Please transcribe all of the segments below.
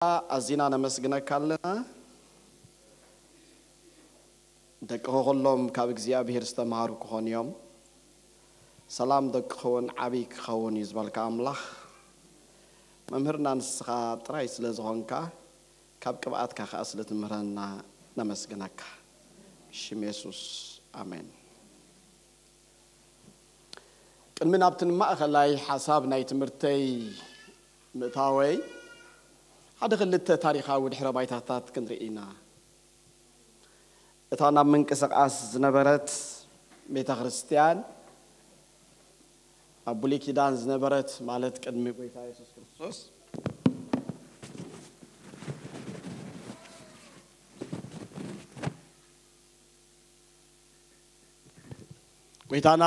ኣዚና ነመስግነካ ኣለና። ደቅኻ ኩሎም ካብ እግዚኣብሔር ዝተምሃሩ ክኾኑ እዮም። ሰላም ደቅኻ እውን ዓብዪ ክኸውን እዩ ዝበልካ ኣምላኽ፣ መምህርና ንስኻ ጥራይ ስለ ዝኾንካ፣ ካብ ቅብኣትካ ከኣ ስለ ትምህረና ነመስግነካ። ብሽም የሱስ፣ ኣሜን። ቅድሚ ናብቲ ንማእኸላይ ሓሳብ ናይ ትምህርተይ ምእታወይ፣ ሓደ ክልተ ታሪኻዊ ድሕረ ባይታታት ክንርኢ ኢና። እታ ናብ ምንቅስቓስ ዝነበረት ቤተ ክርስቲያን፣ ኣብ ብሉይ ኪዳን ዝነበረት፣ ማለት ቅድሚ ጎይታ የሱስ ክርስቶስ፣ ጎይታና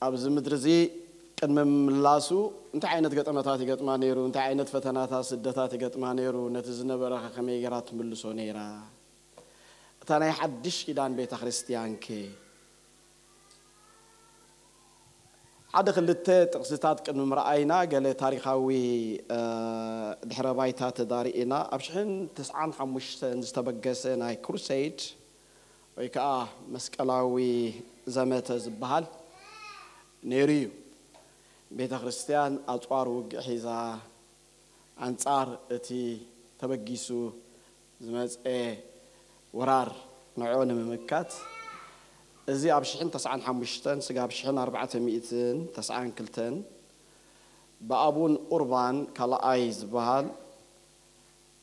ኣብዚ ምድሪ እዚ ቅድሚ ምምላሱ እንታይ ዓይነት ገጠመታት ይገጥማ ነይሩ? እንታይ ዓይነት ፈተናታት፣ ስደታት ይገጥማ ነይሩ? ነቲ ዝነበረ ከ ከመይ ገይራ ትምልሶ ነይራ? እታ ናይ ሓድሽ ኪዳን ቤተ ክርስቲያን ከ? ሓደ ክልተ ጥቕስታት ቅድሚ ምርኣይና፣ ገለ ታሪኻዊ፣ እ፣ ድሕረ ባይታ ተዳሪእና። ኣብ ሽሕን ተስዓን ሓሙሽተን ዝተበገሰ ናይ ክሩሴድ ወይ ከዓ መስቀላዊ ዘመተ ዝበሃል ነይሩ እዩ። ቤተ ክርስቲያን ኣጽዋር ውግእ ሒዛ ኣንጻር እቲ ተበጊሱ ዝመጸ ወራር ንዕኡ ንምምካት፣ እዚ ኣብ ሽሕን ተስዓን ሓሙሽተን ስጋብ ሽሕን ኣርባዕተ ሚእትን ተስዓን ክልተን ብኣቡን ኡርባን ካልኣይ ዝበሃል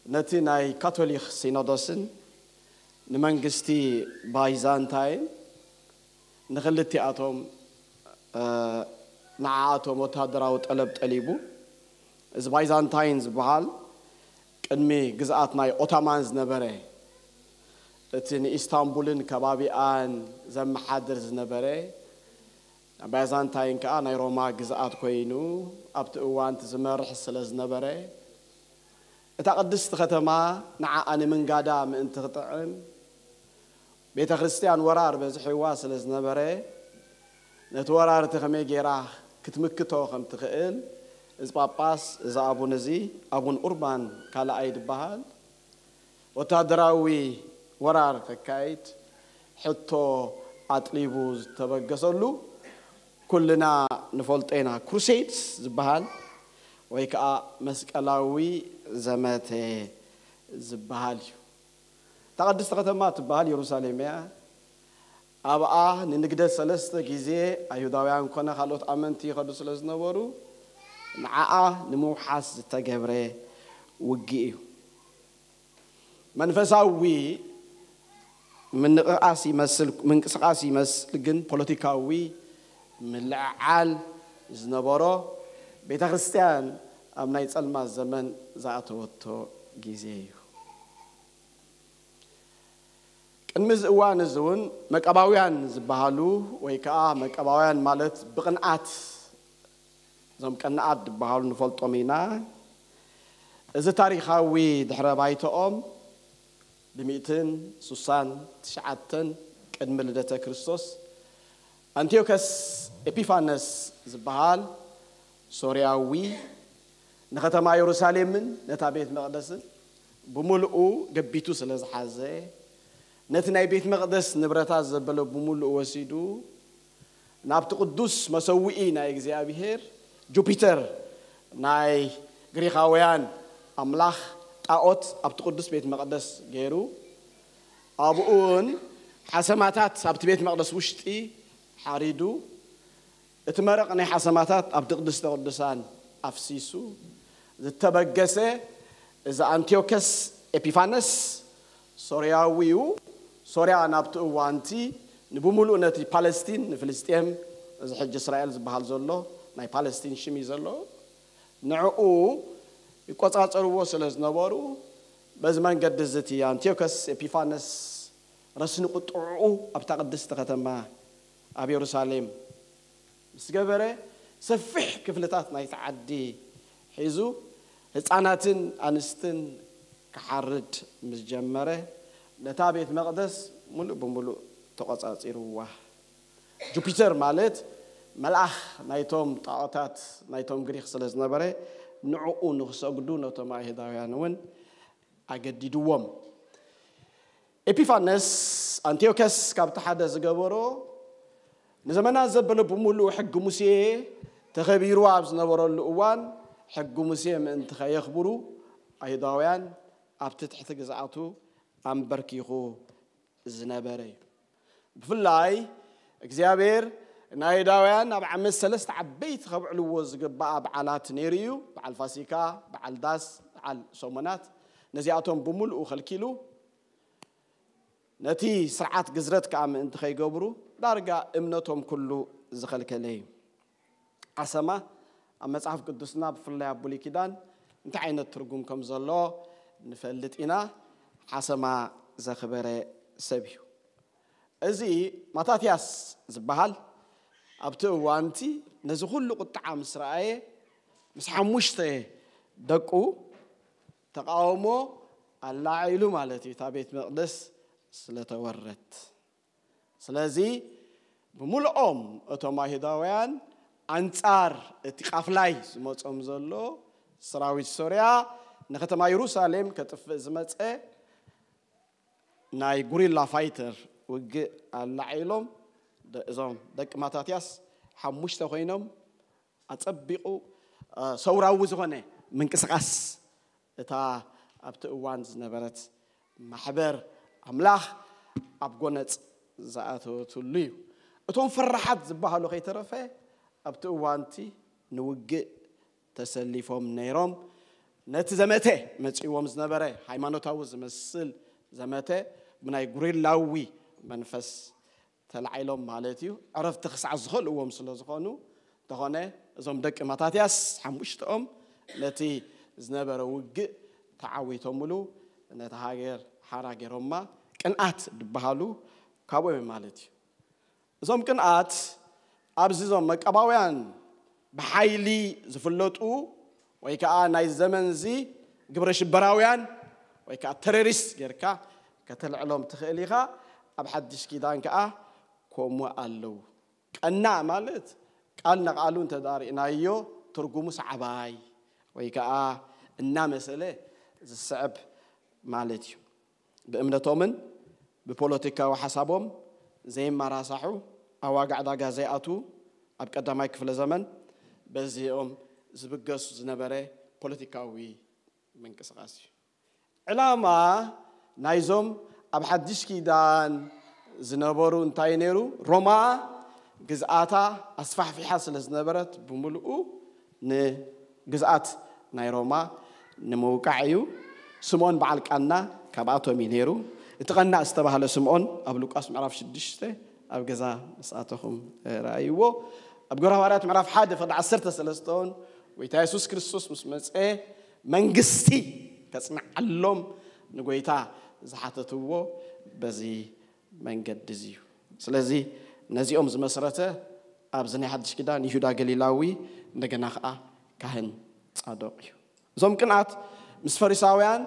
ነቲ ናይ ካቶሊኽ ሲኖዶስን ንመንግስቲ ባይዛንታይን ንኽልቲኣቶም፣ እ፣ ንዓኣቶም ወተሃደራዊ ጠለብ ጠሊቡ። እዚ ባይዛንታይን ዝበሃል ቅድሚ ግዝኣት ናይ ኦታማን ዝነበረ፣ እቲ ንኢስታንቡልን ከባቢኣን ዘመሓድር ዝነበረ፣ ባይዛንታይን ከኣ ናይ ሮማ ግዝኣት ኮይኑ ኣብቲ እዋን እቲ ዝመርሕ ስለ ዝነበረ፣ እታ ቅድስቲ ከተማ ንዓኣ ንምንጋዳ ምእንቲ ክጥዕም፣ ቤተ ክርስቲያን ወራር በዝሕዋ ስለ ዝነበረ፣ ነቲ ወራር እቲ ከመይ ገይራ ክትምክቶ ከም ትኽእል፣ እዚ ጳጳስ፣ እዚ ኣቡን እዚ፣ ኣቡን ኡርባን ካልኣይ ዝበሃል፣ ወታደራዊ ወራር ከካይድ ሕቶ ኣጥሊቡ ዝተበገሰሉ፣ ኩልና ንፈልጦ ኢና፣ ክሩሴድስ ዝበሃል ወይ ከዓ መስቀላዊ ዘመተ ዝበሃል እዩ። እታ ቅድስቲ ከተማ ትበሃል የሩሳሌም እያ። ኣብኣ ንንግደት ሰለስተ ግዜ ኣይሁዳውያን ኮነ ካልኦት ኣመንቲ ይኸዱ ስለ ዝነበሩ፣ ንዓኣ ንምውሓስ ዝተገብረ ውግእ እዩ። መንፈሳዊ ምንቕቓስ ይመስል፣ ምንቅስቓስ ይመስል፣ ግን ፖለቲካዊ ምልዕዓል ዝነበሮ፣ ቤተ ክርስቲያን ኣብ ናይ ጸልማት ዘመን ዝኣተወቶ ግዜ እዩ። ቅድሚ እዚ እዋን እዚ እውን መቃባውያን ዝበሃሉ፣ ወይ ከዓ መቃባውያን ማለት ብቕንኣት፣ እዞም ቀናኣት ዝበሃሉ ንፈልጦም ኢና። እዚ ታሪኻዊ ድሕረ ባይተኦም ብሚእትን ሱሳን ትሽዓተን ቅድሚ ልደተ ክርስቶስ፣ ኣንቲዮከስ ኤፒፋነስ ዝበሃል ሶርያዊ ንከተማ የሩሳሌምን ነታ ቤት መቕደስን ብምልኡ ገቢቱ ስለ ዝሓዘ፣ ነቲ ናይ ቤት መቕደስ ንብረታት ዘበለ ብምልኡ ወሲዱ፣ ናብቲ ቅዱስ መሰውኢ ናይ እግዚኣብሔር፣ ጁፒተር ናይ ግሪኻውያን ኣምላኽ ጣዖት ኣብቲ ቅዱስ ቤት መቕደስ ገይሩ፣ ኣብኡን ሓሰማታት ኣብቲ ቤት መቕደስ ውሽጢ ሓሪዱ፣ እቲ መረቕ ናይ ሓሰማታት ኣብቲ ቅድስተ ቅዱሳን ኣፍሲሱ ዝተበገሰ እዚ ኣንቲዮከስ ኤፒፋነስ ሶርያዊ እዩ። ሶርያ ናብቲ እዋንቲ ንብምሉእ ነቲ ፓለስቲን፣ ንፍልስጤም፣ እዚ ሕጂ እስራኤል ዝበሃል ዘሎ ናይ ፓለስቲን ሽም እዩ ዘሎ፣ ንዕኡ ይቆጻጸርዎ ስለ ዝነበሩ፣ በዚ መንገዲ እዚ እቲ ኣንቲዮከስ ኤፒፋነስ ረስኒ ቁጥዕኡ ኣብታ ቅድስቲ ከተማ ኣብ የሩሳሌም ምስ ገበረ፣ ሰፊሕ ክፍልታት ናይቲ ዓዲ ሒዙ ህፃናትን ኣንስትን ክሓርድ ምስ ጀመረ፣ ነታ ቤት መቕደስ ሙሉእ ብሙሉእ ተቖጻጺርዋ። ጁፒተር ማለት መልኣኽ ናይቶም ጣዖታት ናይቶም ግሪኽ ስለ ዝነበረ፣ ንዕኡ ንኽሰግዱ ነቶም ኣይሁዳውያን እውን ኣገዲድዎም። ኤፒፋነስ ኣንቲዮከስ ካብቲ ሓደ ዝገበሮ፣ ንዘመናት ዘበለ ብምሉኡ ሕጊ ሙሴ ተኸቢሩ ኣብ ዝነበረሉ እዋን፣ ሕጊ ሙሴ ምእንቲ ከየኽብሩ ኣይሁዳውያን ኣብቲ ትሕቲ ግዝኣቱ ኣንበርኪኹ ዝነበረ እዩ። ብፍላይ እግዚኣብሔር ንኣይሁዳውያን ኣብ ዓመት ሰለስተ ዓበይቲ ከብዕልዎ ዝግባኣ በዓላት ነይሩ እዩ። በዓል ፋሲካ፣ በዓል ዳስ፣ በዓል ሰሙናት። ነዚኣቶም ብምሉኡ ከልኪሉ፣ ነቲ ስርዓት ግዝረት ከኣ ምእንቲ ከይገብሩ ዳርጋ እምነቶም ኩሉ ዝኸልከለ እዩ። ዓሰማ ኣብ መጽሓፍ ቅዱስና ብፍላይ ኣብ ብሉይ ኪዳን እንታይ ዓይነት ትርጉም ከም ዘሎ ንፈልጥ ኢና። ዓሰማ ዘኽበረ ሰብ እዩ። እዚ ማታትያስ ዝበሃል ኣብቲ እዋንቲ ነዚ ኩሉ ቁጥዓ ምስ ረኣየ ምስ ሓሙሽተ ደቁ ተቃውሞ ኣላዒሉ ማለት እዩ፣ እታ ቤት መቕደስ ስለተወረት። ስለዚ ብምልኦም እቶም ኣይሁዳውያን ኣንጻር እቲ ቃፍላይ ዝመጾም ዘሎ ሰራዊት ሶርያ ንከተማ የሩሳሌም ከጥፍእ ዝመጸ ናይ ጉሪላ ፋይተር ውግእ ኣላዒሎም። ደ- እዞም ደቂ ማታትያስ ሓሙሽተ ኮይኖም ኣጸቢቑ እ፣ ሰውራዊ ዝኾነ ምንቅስቓስ እታ ኣብቲ እዋን ዝነበረት ማሕበር ኣምላኽ ኣብ ጎነጽ ዝኣተወትሉ እዩ። እቶም ፈራሓት ዝበሃሉ ከይተረፈ ኣብቲ እዋንቲ ንውግእ ተሰሊፎም ነይሮም። ነቲ ዘመተ መጺእዎም ዝነበረ ሃይማኖታዊ ዝመስል ዘመተ ብናይ ጉሪላዊ መንፈስ ተላዒሎም ማለት እዩ። ዕረፍቲ ክሳዕ ዝኸልእዎም ስለ ዝኾኑ እንተኾነ እዞም ደቂ ማታትያስ ሓሙሽተኦም ነቲ ዝነበረ ውግእ ተዓዊቶምሉ ነቲ ሃገር ሓራ ገይሮማ። ቅንኣት ዝበሃሉ ካብኦም እዮም ማለት እዩ። እዞም ቅንኣት ኣብዚ እዞም መቀባውያን ብሓይሊ ዝፍለጡ ወይ ከዓ ናይ ዘመንዚ ግብረ ሽበራውያን ወይ ከዓ ተሮሪስት ጌርካ ከተልዕሎም ትኽእል ኢኻ። ኣብ ሓድሽ ኪዳን ከዓ ከምኡ ኣለዉ። ቀናእ ማለት ቃል ንቓሉ እንተዳርኢናዮ ትርጉሙ ሰዓባይ ወይ ከዓ እናመሰለ ዝስዕብ ማለት እዩ። ብእምነቶምን ብፖለቲካዊ ሓሳቦም ዘይመራሳሑ፣ ኣብ ዋጋ ዕዳጋ ዘይኣትዉ፣ ኣብ ቀዳማይ ክፍለ ዘመን በዚኦም ዝብገሱ ዝነበረ ፖለቲካዊ ምንቅስቓስ እዩ። ዕላማ ናይዞም ኣብ ሓድሽ ኪዳን ዝነበሩ እንታይ ነይሩ? ሮማ ግዝኣታ ኣስፋሕፊሓ ስለ ዝነበረት ብምልኡ ንግዝኣት ናይ ሮማ ንምውቃዕ እዩ። ስምዖን በዓል ቃና ካብኣቶም እዩ ነይሩ። እቲ ቀናእ ዝተባህለ ስምዖን ኣብ ሉቃስ ምዕራፍ ሽዱሽተ ኣብ ገዛ ምስኣተኹም ረኣይዎ። ኣብ ግብረ ሃዋርያት ምዕራፍ ሓደ ፍቕዲ ዓሰርተ ሰለስተ እውን ጎይታ የሱስ ክርስቶስ ምስ መፀ መንግስቲ ከፅንዓሎም ንጎይታ ዝሓተትዎ በዚ መንገዲ እዚ እዩ። ስለዚ ነዚኦም ዝመስረተ ኣብዚ ናይ ሓድሽ ኪዳን ይሁዳ ገሊላዊ እንደገና ከዓ ካህን ጻዶቅ እዩ። እዞም ቅንኣት ምስ ፈሪሳውያን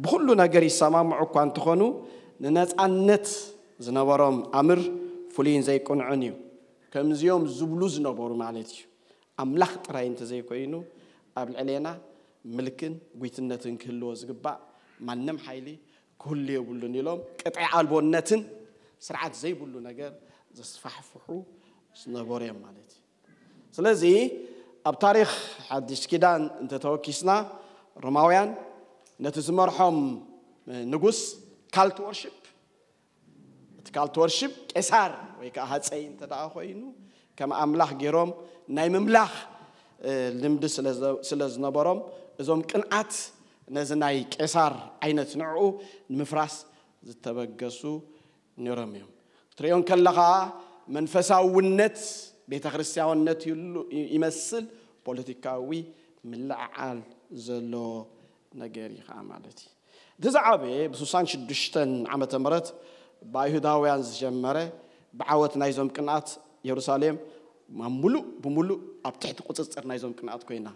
ብኹሉ ነገር ይሰማምዑ እኳ እንተኾኑ ንነፃነት ዝነበሮም ኣምር ፍሉይን ዘይቅንዑን እዩ። ከምዚኦም ዝብሉ ዝነበሩ ማለት እዩ። ኣምላኽ ጥራይ እንተዘይኮይኑ ኣብ ልዕሌና ምልክን ጉይትነትን ክህልዎ ዝግባእ ማንም ሓይሊ ክህሉ የብሉን ኢሎም ቅጥዒ ኣልቦነትን ስርዓት ዘይብሉ ነገር ዘስፋሕፍሑ ዝነበሩ እዮም ማለት እዩ። ስለዚ ኣብ ታሪኽ ሓድሽ ኪዳን እንተተወኪስና ሮማውያን ነቲ ዝመርሖም ንጉስ ካልት ወርሽፕ እቲ ካልት ወርሽፕ ቄሳር ወይ ከዓ ሃፀይ እንተ ደኣ ኮይኑ ከም ኣምላኽ ገይሮም ናይ ምምላኽ ልምዲ ስለ ዝነበሮም እዞም ቅንኣት ነዚ ናይ ቄሳር ዓይነት ንዕኡ ንምፍራስ ዝተበገሱ ነይሮም እዮም። ክትሪኦ ከለኻ መንፈሳውነት ቤተ ክርስቲያንነት ይመስል፣ ፖለቲካዊ ምልዕዓል ዘሎ ነገር እዩ ከዓ ማለት እዩ። እቲ ዝዓበየ ብ ሽዱሽተ ዓመተ ምህረት ብኣይሁዳውያን ዝጀመረ ብዓወት ናይዞም ቅንኣት የሩሳሌም ሙሉእ ብሙሉእ ኣብ ትሕቲ ቁፅፅር ናይዞም ቅንኣት ኮይና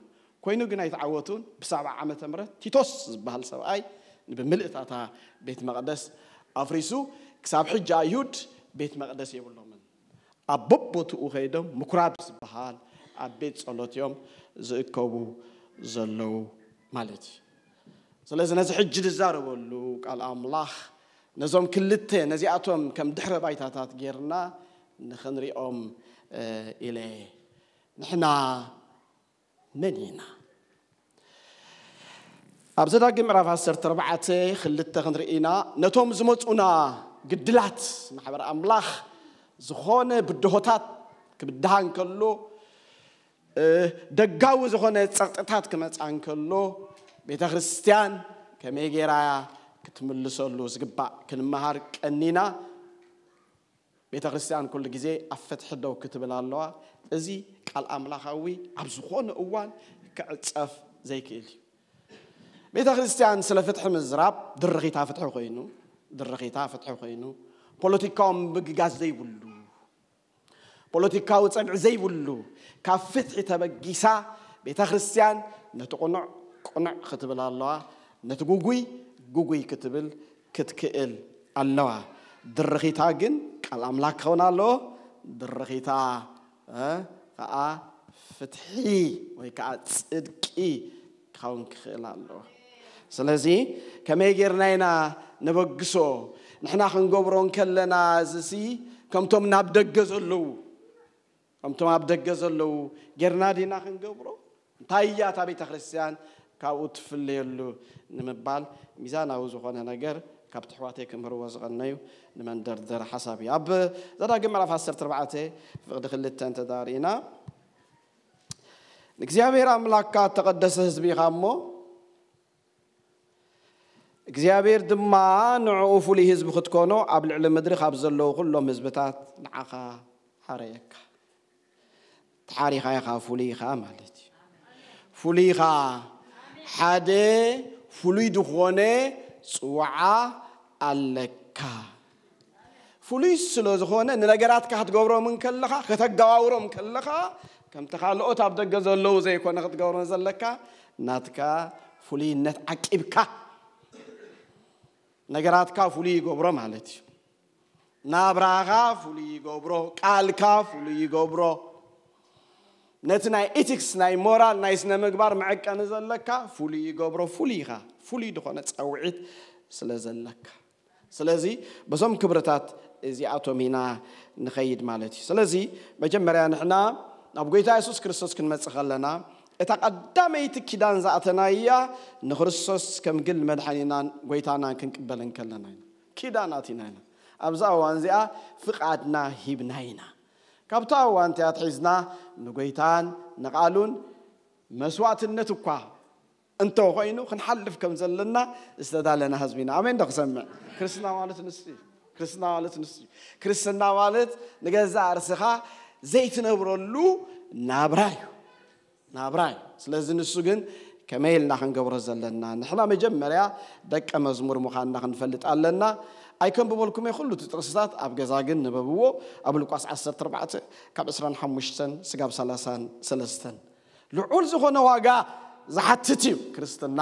ኮይኑ ግን ኣይተዓወቱን። ብሰብዓ ዓመተ ምህረት ቲቶስ ዝበሃል ሰብኣይ ብምህላው እታ ቤት መቕደስ ኣፍሪሱ ክሳብ ሕጂ ኣይሁድ ቤት መቕደስ የብሎምን። ኣብ በቦትኡ ከይዶም ምኩራብ ዝበሃል ኣብ ቤት ጸሎት እዮም ዝእከቡ ዘለዉ ማለት እዩ። ስለዚ ነዚ ሕጂ ዝዛረበሉ ቃል ኣምላኽ ነዞም ክልተ ነዚኣቶም ከም ድሕረ ባይታታት ጌርና ንኽንሪኦም ኢለ። ንሕና መን ኢና? ኣብ ዘዳግም ምዕራፍ ዓሰርተ ኣርባዕተ ክልተ ክንርኢ ኢና። ነቶም ዝመፁና ግድላት ማሕበር ኣምላኽ ዝኾነ ብድሆታት ክብድሃ እንከሎ፣ ደጋዊ ዝኾነ ፀቕጥታት ክመፃ እንከሎ፣ ቤተ ክርስቲያን ከመይ ገይራ ክትምልሰሉ ዝግባእ ክንመሃር ቀኒና። ቤተ ክርስቲያን ኩሉ ግዜ ኣብ ፍትሒ ደው ክትብል ኣለዋ። እዚ ቃል ኣምላኻዊ ኣብ ዝኾነ እዋን ክዕፀፍ ዘይክእል እዩ። ቤተ ክርስቲያን ስለ ፍትሒ ምዝራብ ድርኺታ ፍትሒ ኮይኑ፣ ድርኺታ ፍትሒ ኮይኑ፣ ፖለቲካዊ ምግጋዝ ዘይብሉ፣ ፖለቲካዊ ጸግዒ ዘይብሉ፣ ካብ ፍትሒ ተበጊሳ ቤተ ክርስቲያን ነቲ ቅኑዕ ቅኑዕ ክትብል ኣለዋ፣ ነቲ ጉጉይ ጉጉይ ክትብል ክትክእል ኣለዋ። ድርኺታ ግን ቃል ኣምላኽ ክኸውን ኣለዎ። ድርኺታ ከዓ ፍትሒ ወይ ከዓ ጽድቂ ክኸውን ክኽእል ኣለዎ። ስለዚ ከመይ ጌርና ኢና ነበግሶ? ንሕና ክንገብሮ እንከለና እዚሲ ከምቶም ናብ ደገ ዘለዉ ከምቶም ኣብ ደገ ዘለዉ ጌርና ዲና ክንገብሮ? እንታይ እያ እታ ቤተ ክርስቲያን ካብኡ ትፍለየሉ ንምባል ሚዛናዊ ዝኾነ ነገር ካብ ትሕዋተይ ክምህርዎ ዝቐነዩ ንመንደርደር ሓሳብ እዩ። ኣብ ዘዳግም ምዕራፍ ዓሰርተ ኣርባዕተ ፍቕዲ ክልተ እንተዳርኢና፣ ንእግዚኣብሔር ኣምላክካ እተቐደሰ ህዝቢ ኢኻ እሞ እግዚኣብሔር ድማ ንዕኡ ፍሉይ ህዝቢ ክትኮኖ ኣብ ልዕሊ ምድሪ ካብ ዘለዉ ኩሎም ህዝብታት ንዓኻ ሓረየካ። ተሓሪኻ ኢኻ፣ ፍሉይ ኢኻ ማለት እዩ። ፍሉይ ኢኻ። ሓደ ፍሉይ ዝኾነ ጽዋዓ ኣለካ። ፍሉይ ስለ ዝኾነ ንነገራትካ ክትገብሮም እንከለኻ፣ ከተገባብሮም ከለኻ፣ ከምቲ ካልኦት ኣብ ደገ ዘለዉ ዘይኮነ ክትገብሮም ዘለካ፣ ናትካ ፍሉይነት ዓቂብካ ነገራትካ ፍሉይ ይገብሮ ማለት እዩ። ናብራኻ ፍሉይ ይገብሮ፣ ቃልካ ፍሉይ ይገብሮ። ነቲ ናይ ኢቲክስ፣ ናይ ሞራል፣ ናይ ስነ ምግባር መዐቀኒ ዘለካ ፍሉይ ይገብሮ። ፍሉይ ኢኻ፣ ፍሉይ ዝኾነ ጸውዒት ስለ ዘለካ። ስለዚ በዞም ክብርታት እዚኣቶም ኢና ንኸይድ ማለት እዩ። ስለዚ መጀመርያ ንሕና ናብ ጎይታ የሱስ ክርስቶስ ክንመጽእ ከለና፣ እታ ቀዳመይቲ ኪዳን ዝኣተናያ ንክርስቶስ ከም ግል መድሓኒናን ጎይታናን ክንቅበል እንከለና ኢና። ኪዳን ኣቲና ኢና። ኣብዛ እዋን እዚኣ ፍቓድና ሂብና ኢና። ካብታ እዋን እቲኣ ኣትሒዝና ንጎይታን ንቓሉን መስዋእትነት እኳ እንተኾይኑ ክንሓልፍ ከም ዘለና ዝተዳለና ህዝቢ ኢና። ኣሜን ዶ ክሰምዕ? ክርስትና ማለት ንሱ እዩ። ክርስትና ማለት ንሱ እዩ። ክርስትና ማለት ንገዛእ ርእስኻ ዘይትነብረሉ ናብራ እዩ። ናብራ እዩ። ስለዚ ንሱ ግን ከመይ ኢልና ክንገብሮ ዘለና? ንሕና መጀመርያ ደቀ መዝሙር ምዃንና ክንፈልጥ ኣለና። ኣይከንብበልኩም'የ ኩሉ እቲ ጥቕስታት፣ ኣብ ገዛ ግን ንበብዎ። ኣብ ሉቃስ ዓሰርተ ኣርባዕተ ካብ ዕስራን ሓሙሽተን ስጋብ ሰላሳን ሰለስተን። ልዑል ዝኾነ ዋጋ ዝሓትት እዩ ክርስትና።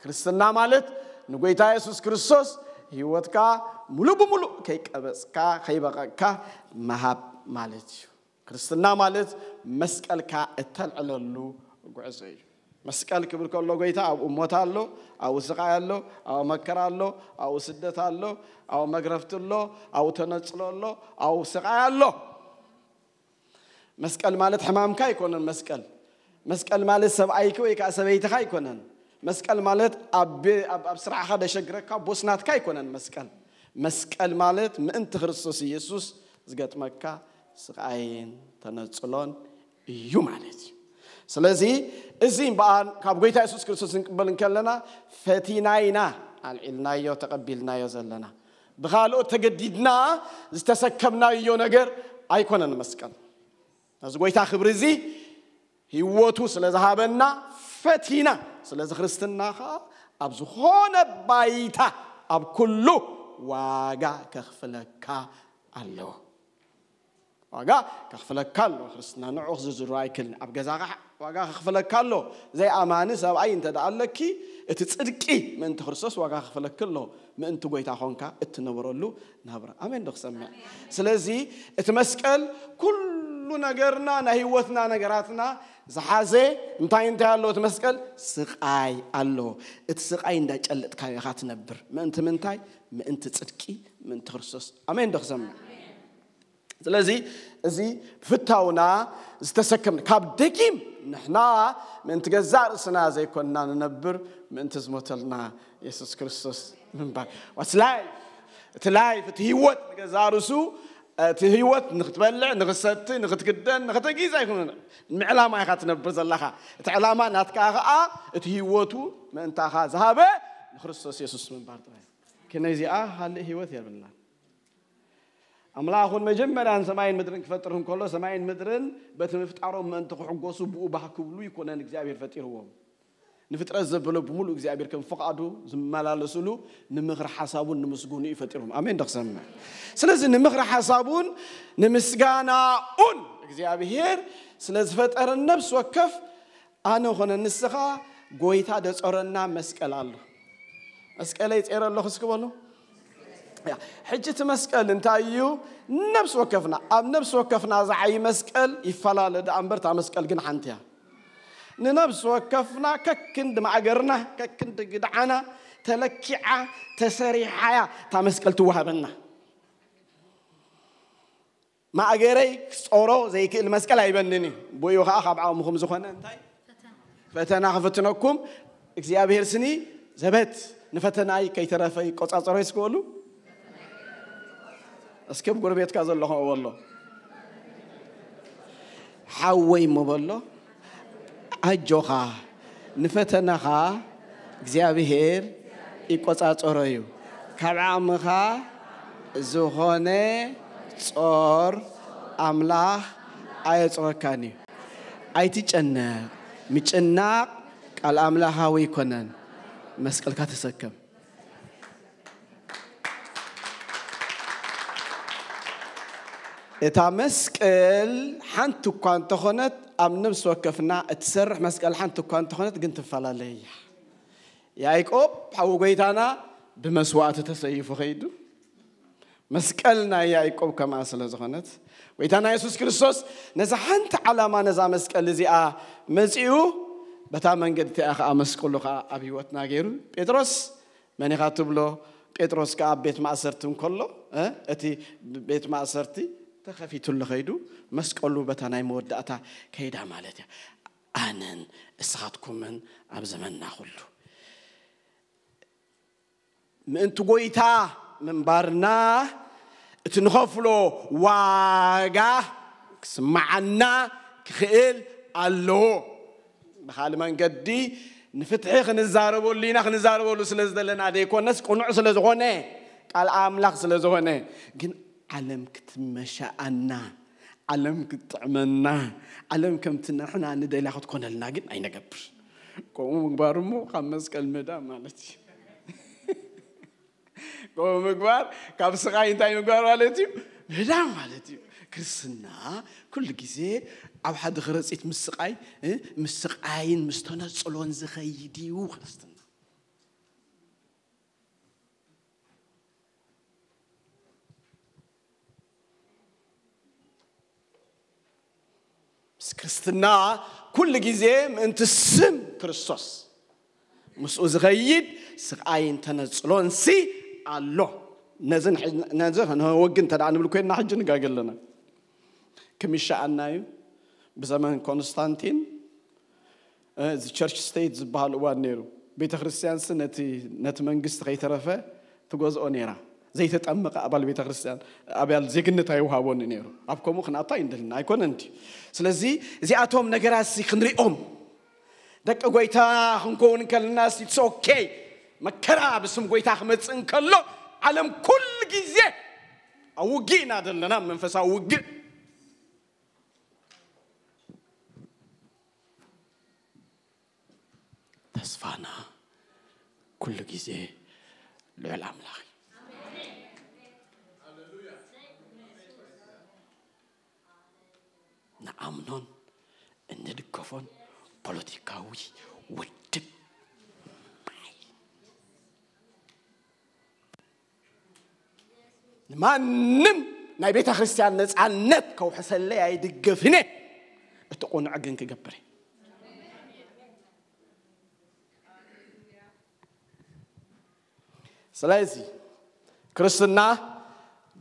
ክርስትና ማለት ንጎይታ የሱስ ክርስቶስ ህይወትካ ሙሉእ ብሙሉእ ከይቀበጽካ፣ ከይበቐቕካ ምሃብ ማለት እዩ። ክርስትና ማለት መስቀልካ እተልዕለሉ ጉዕዞ እዩ። መስቀል ክብል ከሎ ጎይታ ኣብኡ ሞት ኣሎ፣ ኣብኡ ስቓይ ኣሎ፣ ኣብኡ መከራ ኣሎ፣ ኣብኡ ስደት ኣሎ፣ ኣብኡ መግረፍቲ ኣሎ፣ ኣብኡ ተነጽሎ ኣሎ፣ ኣብኡ ስቓይ ኣሎ። መስቀል ማለት ሕማምካ ኣይኮነን መስቀል። መስቀል ማለት ሰብኣይኪ ወይ ከዓ ሰበይትኻ ኣይኮነን። መስቀል ማለት ኣብ ቤ-፣ ኣብ፣ ኣብ ስራሕኻ ደሸግረካ ቦስ ናትካ ኣይኮነን መስቀል። መስቀል ማለት ምእንቲ ክርስቶስ ኢየሱስ ዝገጥመካ ስቓይን ተነጽሎን እዩ ማለት እዩ። ስለዚ እዚ እምበኣር ካብ ጎይታ የሱስ ክርስቶስ ክንቅበል እንከለና ፈቲና ኢና፣ ኣልዒልናዮ፣ ተቐቢልናዮ ዘለና። ብኻልኦት ተገዲድና ዝተሰከምናዮ ነገር ኣይኮነን መስቀል። ነዚ ጎይታ ክብሪ እዚ ህይወቱ ስለ ዝሃበና ፈቲና። ስለዚ ክርስትና ኸዓ ኣብ ዝኾነ ባይታ ኣብ ኩሉ ዋጋ ከኽፍለካ ኣለዎ። ዋጋ ከኽፍለካ ኣሎ። ክርስትና ንዑ ክዝዝሮ ኣይክልን። ኣብ ገዛኻ ዋጋ ከኽፍለካ ኣሎ። ዘይኣማኒ ሰብኣይ እንተ ደኣ ኣለኪ፣ እቲ ጽድቂ ምእንቲ ክርስቶስ ዋጋ ከኽፍለኪ ኣሎ። ምእንቲ ጎይታ ኾንካ እትነበረሉ ናብራ። ኣሜን ዶ ክሰምዕ? ስለዚ እቲ መስቀል ኩሉ ኩሉ ነገርና፣ ናይ ህይወትና ነገራትና ዝሓዘ እንታይ እንታይ ኣሎ? እቲ መስቀል ስቓይ ኣሎ። እቲ ስቓይ እንዳጨለጥካዮ ኢኻ ትነብር። ምእንቲ ምንታይ? ምእንቲ ጽድቂ፣ ምእንቲ ክርስቶስ። ኣሜን ዶ ክሰምዕ? ስለዚ እዚ ፍታውና ዝተሰከምና ካብ ደጊም ንሕና ምእንቲ ገዛእ ርእስና ዘይኮንና ንነብር፣ ምእንቲ ዝሞተልና የሱስ ክርስቶስ ምንባር። ዋስ ላይፍ፣ እቲ ላይፍ፣ እቲ ህይወት ንገዛእ ርእሱ፣ እቲ ህይወት ንክትበልዕ፣ ንክሰቲ፣ ንክትክደን፣ ንክተጊዝ ኣይኮነን። ንዕላማ ኢኻ ትነብር ዘለኻ። እቲ ዕላማ ናትካ ኸኣ እቲ ህይወቱ ምእንታኻ ዝሃበ ንክርስቶስ የሱስ ምንባር ጥራይ። ከነዚኣ ካልእ ህይወት የብላን። ኣምላኽ እውን መጀመርያን ሰማይን ምድርን ክፈጥር እንከሎ፣ ሰማይን ምድርን በቲ ምፍጣሮም ምእንቲ ክሕጎሱ ብኡ ባህ ክብሉ ይኮነን እግዚኣብሔር ፈጢርዎም። ንፍጥረት ዘበሎ ብምሉእ እግዚኣብሔር ከም ፍቓዱ ዝመላለስሉ ንምኽሪ ሓሳቡን ንምስጉኑ እዩ ፈጢርዎም። ኣሜን ዶ ክሰምዕ? ስለዚ ንምኽሪ ሓሳቡን ንምስጋናኡን እግዚኣብሔር ስለ ዝፈጠረን ነፍሲ ወከፍ ኣነ ኾነ ንስኻ ጎይታ ደጾረና መስቀል ኣሎ። መስቀለይ ጼረ ኣለኹ እስኪ በሉ። ያ፣ ሕጂ እቲ መስቀል እንታይ እዩ? ነፍሲ ወከፍና፣ ኣብ ነፍሲ ወከፍና ዝዓይ መስቀል ይፈላለ ደኣ እምበር፣ እታ መስቀል ግን ሓንቲ እያ። ንነፍሲ ወከፍና ከክንዲ ማእገርና፣ ከክንዲ ግድዓና ተለኪዓ፣ ተሰሪሓ እያ እታ መስቀል ትወሃበና። ማእገረይ ክጾሮ ዘይክእል መስቀል ኣይበንን እዩ። ብኡ ከዓ ካብ ዓቕምኹም ዝኾነ እንታይ? ፈተና ክፍትነኩም እግዚኣብሔር ስኒ ዘበት ንፈተናይ ከይተረፈ ይቆጻጸሮ ይስክበሉ። እስኪ ኣብ ጎረቤትካ ዘሎ ከምኡ በሎ። ሓወይ እሞ በሎ፣ ኣጆኻ፣ ንፈተናኻ እግዚኣብሔር ይቆጻጸሮ እዩ። ካብ ዓቕምኻ ዝኾነ ጾር ኣምላኽ ኣየጽረካን እዩ። ኣይትጨነቕ። ምጭናቕ ቃል ኣምላኻዊ ኣይኮነን። መስቀልካ ተሰከም። እታ መስቀል ሓንቲ እኳ እንተኾነት፣ ኣብ ነፍሲ ወከፍና እትሰርሕ መስቀል ሓንቲ እኳ እንተኾነት ግን ትፈላለ እያ። ያዕቆብ ሓዊ ጎይታና ብመስዋእቲ ተሰይፉ ኸይዱ፣ መስቀል ናይ ያዕቆብ ከምኣ ስለ ዝኾነት፣ ጎይታና የሱስ ክርስቶስ ነዛ ሓንቲ ዓላማ፣ ነዛ መስቀል እዚኣ መጺኡ፣ በታ መንገዲ እቲኣ ኸኣ መስቀሉ ኸኣ ኣብ ህይወትና ገይሩ። ጴጥሮስ መን ኢኻ ትብሎ? ጴጥሮስ ከኣ ኣብ ቤት ማእሰርቲ እንከሎ፣ እ፣ እቲ ቤት ማእሰርቲ ተኸፊቱሉ ኸይዱ፣ መስቀሉ በታ ናይ መወዳእታ ከይዳ ማለት እያ። ኣነን እስኻትኩምን ኣብ ዘመንና ኹሉ ምእንቲ ጎይታ ምንባርና እቲ ንኸፍሎ ዋጋ ክስምዓና ክኽእል ኣለዎ። ብኻልእ መንገዲ ንፍትሒ ክንዛረበሉ ኢና፣ ክንዛረበሉ ስለ ዝደለና ዘይኮነስ ቅኑዕ ስለ ዝኾነ፣ ቃል ኣምላኽ ስለ ዝኾነ። ግን ዓለም ክትመሻኣና፣ ዓለም ክትጥዕመና፣ ዓለም ከምቲ ንሕና ንደልያ ክትኮነልና ግን ኣይነገብር። ከምኡ ምግባር እሞ ካብ መስቀል ምህዳም ማለት እዩ። ከምኡ ምግባር ካብ ስቓይ እንታይ ምግባር ማለት እዩ? ምህዳም ማለት እዩ። ክርስትና ኩሉ ግዜ ኣብ ሓደ ከረጺት ምስ ስቓይ፣ እ፣ ምስ ስቓይን ምስ ተነጽሎን ዝኸይድ እዩ ክርስትና። ምስ ክርስትና ኩሉ ግዜ ምእንቲ ስም ክርስቶስ ምስኡ ዝኸይድ ስቓይን ተነጽሎንሲ ኣሎ። ነዚ ንሕ-፣ ነዚ ክንወግን እንተ ደኣ ንብል ኮይንና ሕጂ ንጋገ ኣለና። ክምሻኣና እዩ። ብዘመን ኮንስታንቲን፣ እ፣ እዚ ቸርች ስቴት ዝበሃል እዋን ነይሩ። ቤተ ክርስቲያንሲ ነቲ፣ ነቲ መንግስቲ ከይተረፈ ትገዝኦ ነይራ። ዘይተጠመቐ ኣባል ቤተ ክርስቲያን፣ ኣባል ዜግነት ኣይውሃቦን ነይሩ። ኣብ ከምኡ ክንኣቱ ኣይንደልን፣ ኣይኮነን ድዩ? ስለዚ እዚኣቶም ነገራት እዚ ክንሪኦም፣ ደቂ ጎይታ ክንከውን እንከለና፣ it's okay። መከራ ብስም ጎይታ ክመጽእ እንከሎ፣ ዓለም ኩሉ ግዜ ኣብ ውግእ ኢና ዘለና፣ መንፈሳዊ ውግእ። ተስፋና ኩሉ ግዜ ልዑል ኣምላኽ እዩ። ንኣምኖን እንድገፎን ፖለቲካዊ ውድብ ንማንም ናይ ቤተ ክርስቲያን ነፃነት ከውሕሰለይ ኣይድገፍን እየ። እቲ ቁኑዕ ግን ክገብር እየ። ስለዚ ክርስትና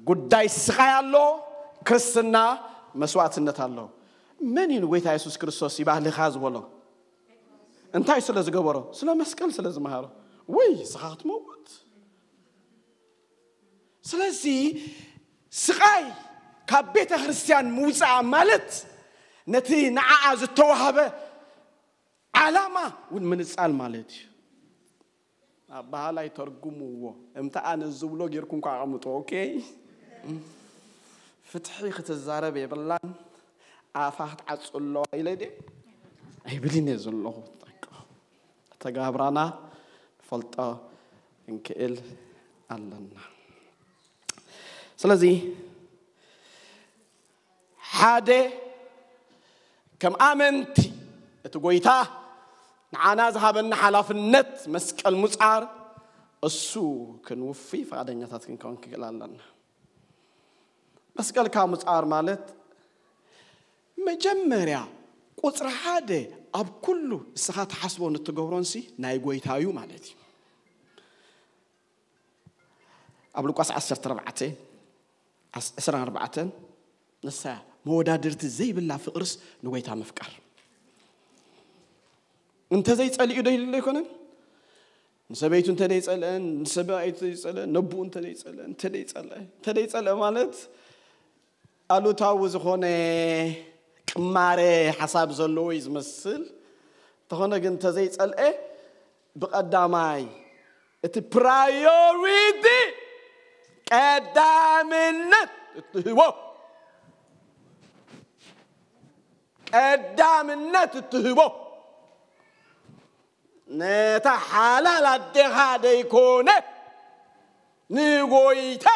ጉዳይ ስቓይ ኣሎ። ክርስትና መስዋዕትነት ኣሎ። መን እዩ ንጎይታ የሱስ ክርስቶስ ይባህልኻ ዝበሎ? እንታይ ስለ ዝገበሮ? ስለ መስቀል ስለ ዝመሃሮ። ወይ ንስኻ ክትመውት። ስለዚ ስቓይ ካብ ቤተ ክርስቲያን ምውፃእ ማለት ነቲ ንዓኣ ዝተዋህበ ዓላማ እውን ምንፃል ማለት እዩ። ኣባሃላይ ተርጉምዎ። እምታ ኣነ ዝብሎ ጌርኩም እኳ ኣቐምጦ። ኦኬ፣ ፍትሒ ክትዛረብ የብላን፣ ኣፋ ክትዓጹ ኣለዋ ኢለ ድየ ኣይብልን እየ ዘለኹ። ተጋብራና ንፈልጦ ክንክእል ኣለና። ስለዚ ሓደ ከም ኣመንቲ እቲ ጎይታ ንዓና ዝሃበና ሓላፍነት መስቀል ሙጻር እሱ ክንውፊ ፈቓደኛታት ክንከውን ክክእል ኣለና። መስቀልካ ሙጻር ማለት መጀመርያ ቁጽሪ ሓደ ኣብ ኩሉ እስኻ ትሓስቦን እትገብሮንሲ ናይ ጎይታ እዩ ማለት እዩ። ኣብ ሉቃስ ዓሰርተ ኣርባዕተ ዓስ- ዕስራን ኣርባዕተን ንሳ መወዳድርቲ ዘይብላ ፍቕርስ ንጎይታ ምፍቃር። እንተዘይጸሊኡ ዶ ይህሉ ኣይኮነን? ንሰበይቱ እንተደይጸልአን፣ ንሰብኣይቱ ዘይጸልአን፣ ነቡኡ እንተደይጸልአን፣ እንተደይጸልአ እንተደይጸልአ ማለት ኣሉታዊ ዝኾነ ቅማረ ሓሳብ ዘለዎ እዩ ዝመስል። እንተኾነ ግን እንተዘይጸልአ ብቐዳማይ እቲ ፕራዮሪቲ ቀዳምነት እትህቦ ቀዳምነት እትህቦ ነታ ሓላል ኣዴኻ ደይኮነ ንጎይታ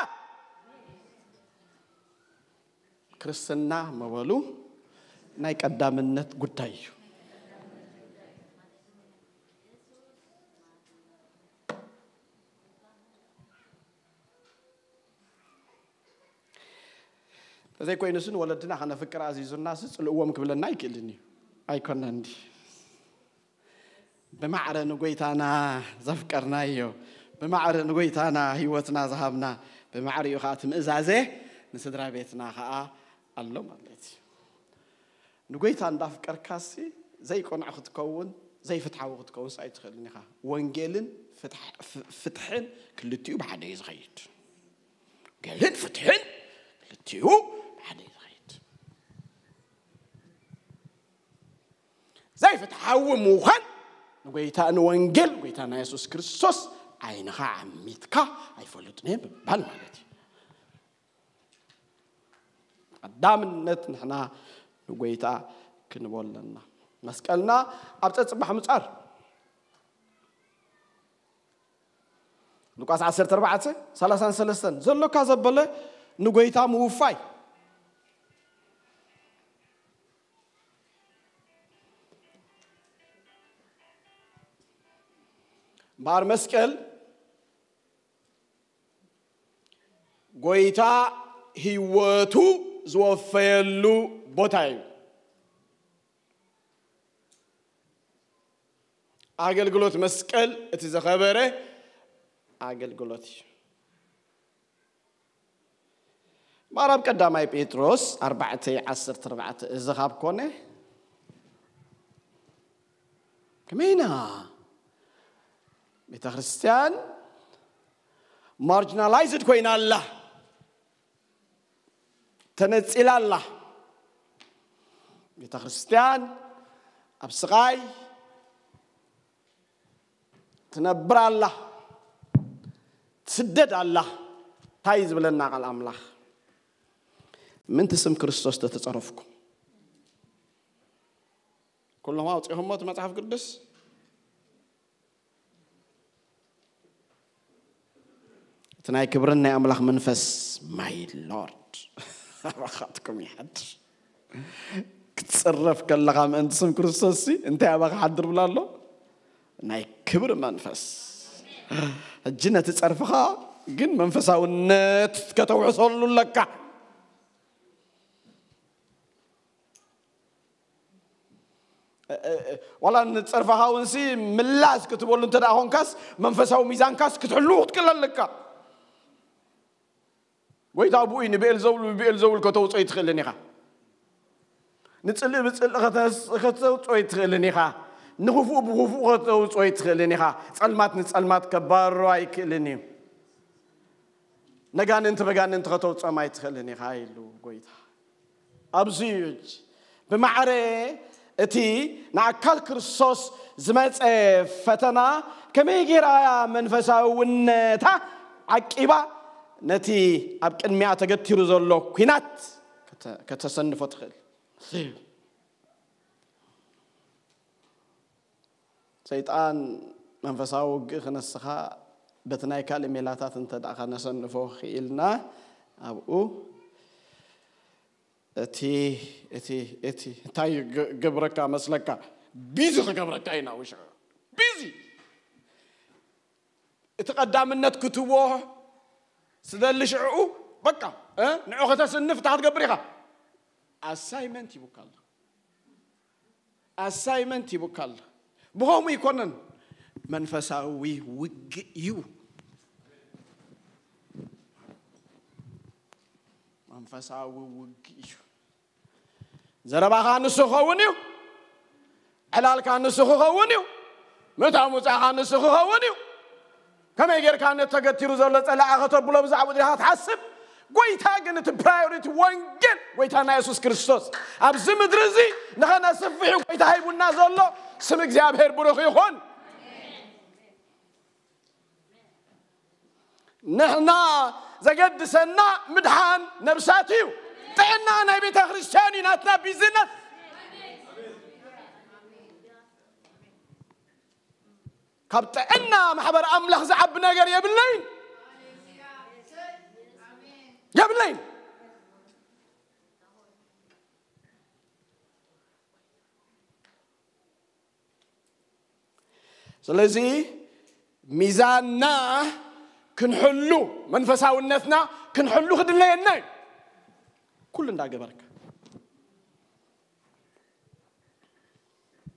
ክርስትና መበሉ ናይ ቀዳምነት ጉዳይ እዩ። ተዘይኮይኑስ ንወለድና ከነፍቅር ኣዚዙናስ ጽልእዎም ክብለና ኣይክእልን እዩ። ኣይኮነን እንዲ ብማዕረ ንጎይታና ዘፍቀርናዮ፣ ብማዕረ ንጎይታና ህይወትና ዝሃብና፣ ብማዕሪኡ ከዓ እቲ ምእዛዘ ንስድራ ቤትና ከዓ ኣሎ ማለት እዩ። ንጎይታ እንዳፍቀርካሲ ዘይቅኑዕ ክትከውን ዘይፍትሓዊ ክትከውንስ ኣይትኽእልን ኢኻ። ወንጌልን ፍትሕ- ፍ- ፍትሕን ክልቲኡ ብሓደ እዩ ዝኸይድ። ወንጌልን ፍትሕን ክልቲኡ ብሓደ እዩ ዝኸይድ። ዘይፍትሓዊ ምዃን ንጎይታ ንወንጌል ጎይታና የሱስ ክርስቶስ ዓይንኻ ዓሚትካ ኣይፈልጥን እየ ምባል ማለት እዩ። ቀዳምነት ንሕና ንጎይታ ክንቦ ኣለና። መስቀልና ኣብ ፀፅባሕ ምፃር ሉቃስ ዓሰርተ ኣርባዕተ ሰላሳን ሰለስተን ዘሎካ ዘበለ ንጎይታ ምውፋይ እምበኣር መስቀል ጎይታ ህይወቱ ዝወፈየሉ ቦታ እዩ። ኣገልግሎት መስቀል እቲ ዝኸበረ ኣገልግሎት እዩ። ማራብ ቀዳማይ ጴጥሮስ ኣርባዕተ ዓሰርተ ኣርባዕተ እዚ ካብ ኮነ ከመይና ቤተ ክርስቲያን ማርጂናላይዝድ ኮይና ኣላ፣ ተነጺላ ኣላ። ቤተ ክርስቲያን ኣብ ስቓይ ትነብር ኣላ፣ ትስደድ ኣላ። እንታይ ዝብለና ቃል ኣምላኽ? ምንቲ ስም ክርስቶስ ተተጸረፍኩም ኩሎም ኣውፂኹሞ እቲ መጽሓፍ ቅዱስ እቲ ናይ ክብርን ናይ ኣምላኽ መንፈስ ማይ ሎርድ ኣባኻትኩም ይሓድር። ክትፅረፍ ከለኻ ምእንቲ ስም ክርስቶስ ሲ እንታይ ኣባኻ ሓድር ብላ ኣሎ? ናይ ክብሪ መንፈስ። ሕጂ ነቲ ፀርፍኻ ግን መንፈሳውነት ከተውሕሰሉ ኣለካ። ዋላ ንጸርፋኻ እውን ሲ ምላስ ክትበሉ እንተ ደኣ ኾንካስ፣ መንፈሳዊ ሚዛንካስ ክትሕሉ ክትክእል ኣለካ። ጎይታ ብኡ እዩ ንብኤልዘቡል ብብኤልዘቡል ከተውፅኦ ኣይትኽእልን ኢኻ። ንጽልኢ ብጽልኢ ከተስ- ከተውፅኦ ኣይትኽእልን ኢኻ። ንኽፉእ ብኽፉእ ከተውፅኦ ኣይትኽእልን ኢኻ። ጸልማት ንጸልማት ከባርሮ ኣይክእልን እዩ። ነጋንንቲ በጋንንቲ ከተውፅኦም ኣይትኽእልን ኢኻ ኢሉ ጎይታ። ኣብዚ እዩ ብማዕረ እቲ ንኣካል ክርስቶስ ዝመጸ ፈተና ከመይ ገይራ እያ መንፈሳውነታ ዓቂባ ነቲ ኣብ ቅድሚኣ ተገቲሩ ዘሎ ኲናት ከተ- ከተሰንፎ ትኽእል? ሰይጣን መንፈሳዊ ውግእ ክነስኻ በቲ ናይ ካልእ ሜላታት እንተ ደኣ ከነሰንፎ ክኢልና ኣብኡ እቲ እቲ እቲ እንታይ ግ- ገብረካ መስለካ? ቢዚ ክገብረካ ኢና ውሽዑ ቢዚ እቲ ቀዳምነት ክትዎ ስደሊ ሽዕኡ በቃ እ? ንዑ ከተስንፍ እንታይ ክትገብር ኢኻ? ኣሳይመንት ይቡካ ኣሎ። ኣሳይመንት ይቡካ ኣሎ። ብኸምኡ ይኮነን፣ መንፈሳዊ ውግእ እዩ። መንፈሳዊ ውግእ እዩ። ዘረባኻ ንሱ ክኸውን እዩ። ዕላልካ ንሱ ክኸውን እዩ። ምእታው ምውፃእኻ ንሱ ክኸውን እዩ። ከመይ ጌርካ ነቲ ተገቲሩ ዘሎ ጸላኢ ከተብሎ ብዛዕባኡ ዲኻ ትሓስብ? ጎይታ ግን እቲ ፕራዮሪቲ ወንጌል ጎይታና የሱስ ክርስቶስ ኣብዚ ምድሪ እዚ ንኸነስፍሕ እዩ ጎይታ ሂቡና ዘሎ። ስም እግዚኣብሔር ብሩኽ ይኹን። ንሕና ዘገድሰና ምድሓን ነብሳት እዩ። ጥዕና ናይ ቤተ ክርስቲያን እዩ ናትና ቢዝነስ። ካብ ጥዕና ማሕበር ኣምላኽ ዝዓቢ ነገር የብለይን የብለይን። ስለዚ ሚዛንና ክንሕሉ መንፈሳውነትና ክንሕሉ ክድለየና እዩ። ኩሉ እንዳገበርካ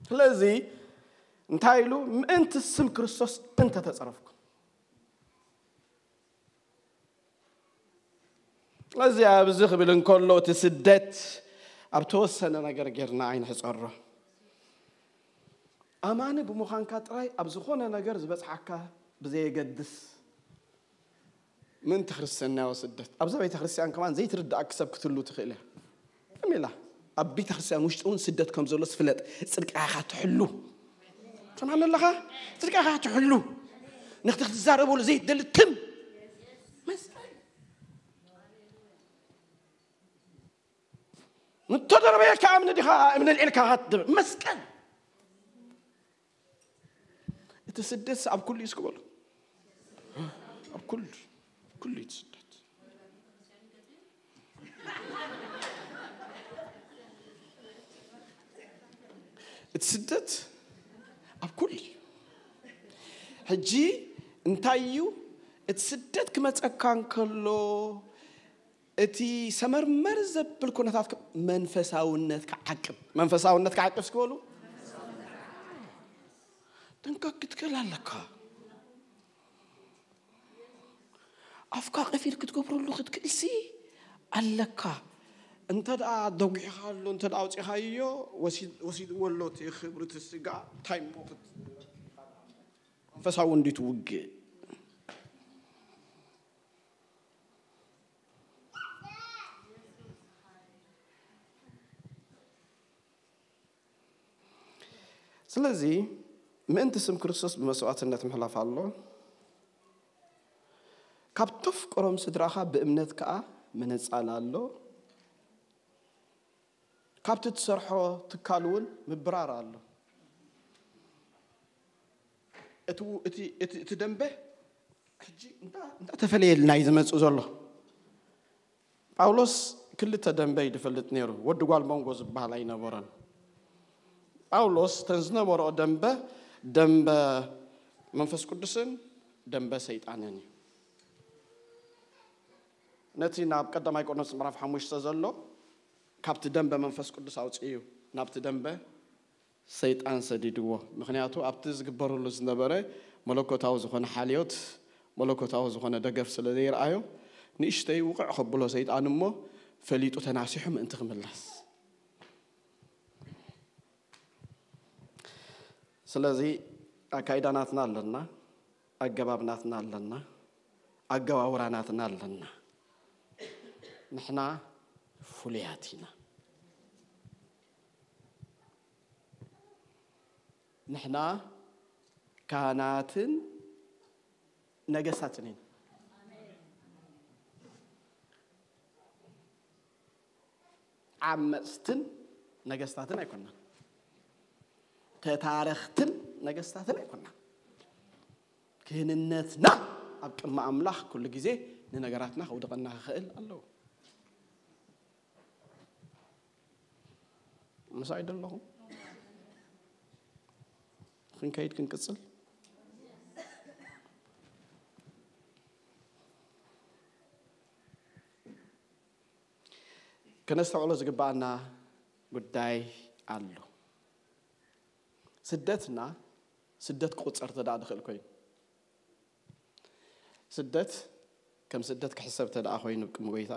ስለዚ እንታይ ኢሉ ምእንቲ ስም ክርስቶስ እንተተጸረፍኩም እዚ ኣብዚ ክብል እንከሎ እቲ ስደት ኣብ ተወሰነ ነገር ጌርና ኣይንሕጸሮ። ኣማኒ ብምዃንካ ጥራይ ኣብ ዝኾነ ነገር ዝበጽሓካ ብዘየገድስ ምእንቲ ክርስትናዊ ስደት ኣብዛ ቤተ ክርስቲያን ከማን ዘይትርዳእክ ሰብ ክትህሉ ትኽእል እያ። ከመይ ኢላ ኣብ ቤተ ክርስቲያን ውሽጢ እውን ስደት ከም ዘሎ ዝፍለጥ ጽድቃኻ ትሕሉ ትሰማኒ ኣለኻ? ጽድቃኻ ትሕሉ ንክቲ ክትዛረበሉ ዘይትደሊ ትም መስቀል እንተደረበየካ እምኒ ዲኻ እምኒ ልዒልካ መስቀል እቲ ስደት ኣብ ኩሉ እዩ እስክበሉ ኣብ ኩሉ ኩሉ እዩ ስደት እቲ ስደት ኣብ ኩሉ እዩ ሕጂ እንታይ እዩ እቲ ስደት ክመፀካ እንከሎ እቲ ሰመርመር ዘብል ኩነታት መንፈሳውነት ክዓቅብ መንፈሳውነት ክዓቅብ እስክበሉ ጥንቀቅ ክትክእል ኣለካ ኣፍካ ቀፊል ክትገብረሉ ክትክእልሲ ኣለካ እንተ ደኣ ደጒሕኻ ኣሎ እንተ ደኣ ኣውፂኻዮ ወሲድዎ ኣሎ እቲ ክብሪ እቲ ስጋ እንታይ እሞ መንፈሳዊ እንዲ ትውግእ ስለዚ ምእንቲ ስም ክርስቶስ ብመስዋእትነት ምሕላፍ ኣሎ ካብ ተፍቅሮም ስድራኻ ብእምነት ከኣ ምንጻል ኣሎ ካብቲ ትሰርሖ ትካል እውን ምብራር ኣሎ እቲ ደንበ ሕጂ እንዳተፈለየልና እዩ ዝመፅእ ዘሎ ጳውሎስ ክልተ ደንበ እዩ ዝፈልጥ ነይሩ ወዲ ጓል መንጎ ዝበሃል ኣይነበረን ጳውሎስ ተን ዝነበረኦ ደንበ ደንበ መንፈስ ቅዱስን ደንበ ሰይጣንን እዩ ነቲ ናብ ቀዳማይ ቆሮንቶስ ምዕራፍ ሓሙሽተ ዘሎ ካብቲ ደንበ መንፈስ ቅዱስ ኣውፅኡ ናብቲ ደንበ ሰይጣን ሰዲድዎ። ምኽንያቱ ኣብቲ ዝግበረሉ ዝነበረ መለኮታዊ ዝኾነ ሓልዮት፣ መለኮታዊ ዝኾነ ደገፍ ስለ ዘይረኣዮ፣ ንእሽተይ ውቕዕ ከብሎ ሰይጣን እሞ ፈሊጡ ተናሲሑ ምእንቲ ክምለስ። ስለዚ ኣካይዳ ናትና ኣለና፣ ኣገባብ ናትና ኣለና፣ ኣገባውራ ናትና ኣለና። ንሕና ፍሉያት ኢና። ንሕና ካህናትን ነገስታትን ኢና። ዓመፅትን ነገስታትን ኣይኮናን። ተታረኽትን ነገስታትን ኣይኮናን። ክህንነትና ኣብ ቅድሚ ኣምላኽ ኩሉ ግዜ ንነገራትና ከውድቐና ክኽእል ኣለዎ። ምሳይ ደለኹም? ክንከይድ ክንቅጽል? ከነስተውዕሎ ዝግባኣና ጉዳይ ኣሎ። ስደትና ስደት ክቑጸር ተደኣ ዝኽእል ኮይኑ፣ ስደት ከም ስደት ክሕሰብ ተደኣ ኮይኑ ቅድሚ ጎይታ፣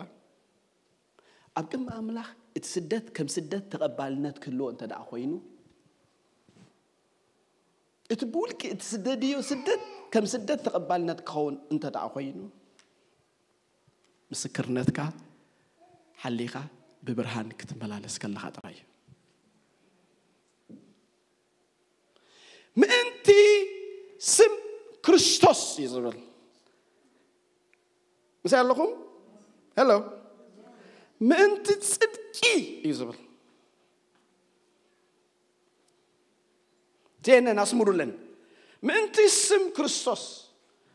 ኣብ ቅድሚ ኣምላኽ እቲ ስደት ከም ስደት ተቐባልነት ክህልዎ እንተ ደኣ ኮይኑ፣ እቲ ብውልቂ እቲ ስደድዮ ስደት ከም ስደት ተቐባልነት ክኸውን እንተ ደኣ ኮይኑ፣ ምስክርነትካ ሓሊኻ ብብርሃን ክትመላለስ ከለኻ ጥራይ እዩ። ምእንቲ ስም ክርስቶስ እዩ ዝብል። ምሳይ ኣለኹም? ሄሎ። ምእንቲ ጽድቂ እዩ ዝብል። ዜነን ኣስምሩለን። ምእንቲ ስም ክርስቶስ፣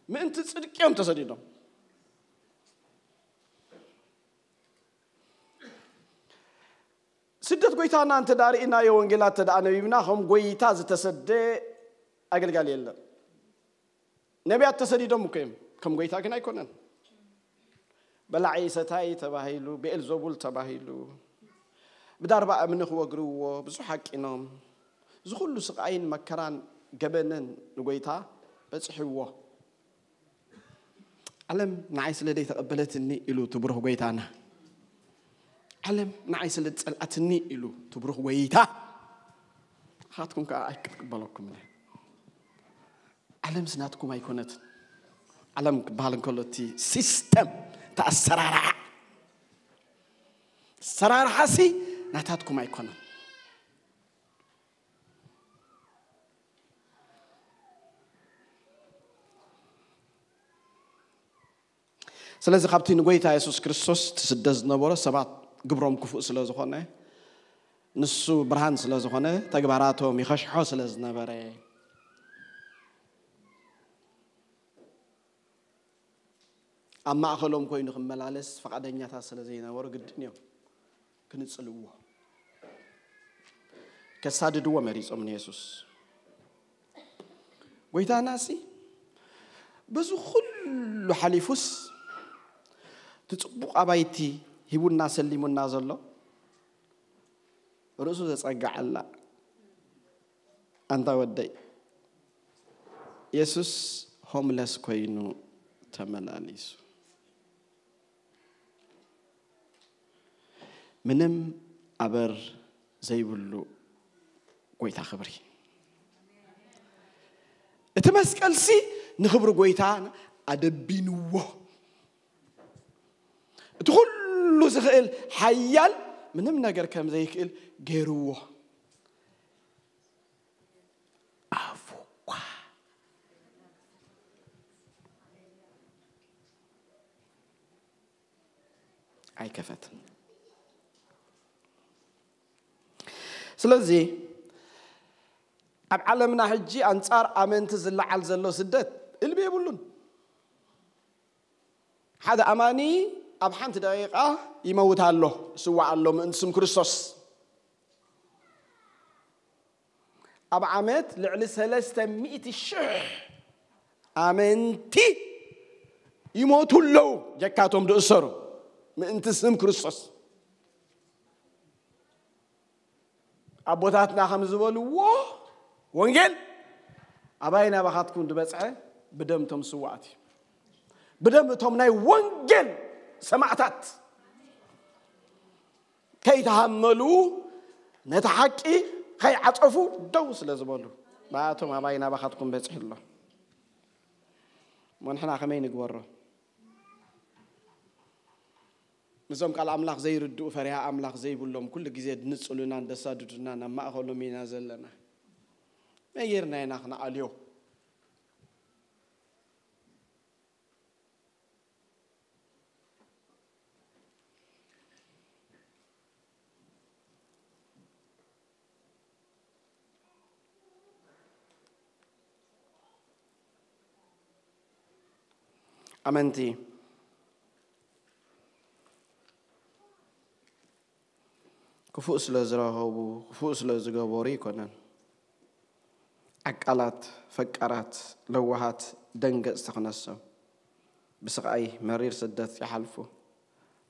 ምእንቲ ጽድቂ እዮም ተሰዲዶም። ስደት ጎይታና እንተ ደኣ ርኢናዮ፣ ወንጌላት እንተ ደኣ ነቢብና፣ ከም ጎይታ ዝተሰደ ኣገልጋሊ የለን። ነቢያት ተሰዲዶም እኮ እዮም፣ ከም ጎይታ ግን ኣይኮነን። በላዒ ሰታይ ተባሂሉ፣ ብኤልዞቡል ተባሂሉ፣ ብዳርባ እምኒ ክወግርዎ ብዙሕ ሓቂኖም። እዚ ኩሉ ስቓይን መከራን ገበንን ንጎይታ በጽሕዎ። ዓለም ንዓይ ስለ ዘይተቐበለትኒ ኢሉ ትብሩኽ ጎይታና። ዓለም ንዓይ ስለ ዝጸልኣትኒ ኢሉ ትብሩኽ ጎይታ። ንኻትኩም ከኣ ኣይክትቅበለኩም እየ። ዓለምስ ናትኩም ኣይኮነትን። ዓለም ክበሃል እንከሎ እቲ ሲስተም፣ እቲ ኣሰራርሓ፣ ኣሰራርሓሲ ናታትኩም ኣይኮነን። ስለዚ ካብቲ ንጎይታ የሱስ ክርስቶስ ትስደድ ዝነበሮ ሰባት ግብሮም ክፉእ ስለ ዝኾነ፣ ንሱ ብርሃን ስለ ዝኾነ፣ ተግባራቶም ይኸሽሖ ስለ ዝነበረ፣ ኣብ ማእኸሎም ኮይኑ ክመላለስ ፍቓደኛታት ስለ ዘይነበሩ ግድን እዮም ክንጽልዎ። ከሳድድዎ መሪጾም ንየሱስ። ጎይታናሲ በዚ ኩሉ ሓሊፉስ እቲ ጽቡቕ ኣባይቲ ሂቡና ሰሊሙና ዘሎ ርእሱ ዘጸግዓላ ኣንታ ወደይ የሱስ ሆምለስ ኮይኑ ተመላሊሱ። ምንም ኣበር ዘይብሉ ጎይታ ክብሪ። እቲ መስቀልሲ ንኽብሪ ጎይታ ኣደቢንዎ። እቲ ኩሉ ዝኽእል ሓያል ምንም ነገር ከም ዘይክእል ገይርዎ። ኣፉ እኳ ኣይከፈትን። ስለዚ ኣብ ዓለምና ሕጂ ኣንጻር ኣመንቲ ዝለዓል ዘሎ ስደት እልቢ የብሉን። ሓደ ኣማኒ ኣብ ሓንቲ ደቂቃ ይመውት ኣሎ፣ ይስዋዕ ኣሎ ምእንቲ ስም ክርስቶስ። ኣብ ዓመት ልዕሊ ሰለስተ ሚእቲ ሽሕ ኣመንቲ ይሞቱ ኣለዉ፣ ጀካቶም ዝእሰሩ ምእንቲ ስም ክርስቶስ። ኣቦታትና ከም ዝበልዎ፣ ወንጌል ኣባይ ናባኻትኩም ዝበጽሐ ብደም እቶም ስዋኣት እዩ። ብደም እቶም ናይ ወንጌል ሰማዕታት ከይተሃመሉ፣ ነቲ ሓቂ ከይዓጸፉ ደው ስለ ዝበሉ፣ ብኣቶም ኣባይ ናባኻትኩም በጺሑ ኣሎ። እሞ ንሕና ከመይ ንግበሮ? ነዞም ቃል ኣምላኽ ዘይርድኡ፣ ፈሪሃ ኣምላኽ ዘይብሎም፣ ኩሉ ግዜ ድንጽሉናን ደሳድዱናን ኣብ ማእኸሎም ኢና ዘለና። መይ ጌርና ኢና ክንኣልዮ? ኣመንቲ ክፉእ ስለ ዝረኸቡ፣ ክፉእ ስለ ዝገበሩ ኣይኮነን። ዓቃላት፣ ፈቃራት፣ ለዋሃት፣ ደንገጽቲ ክነሶም፣ ብስቓይ መሪር ስደት ይሓልፉ።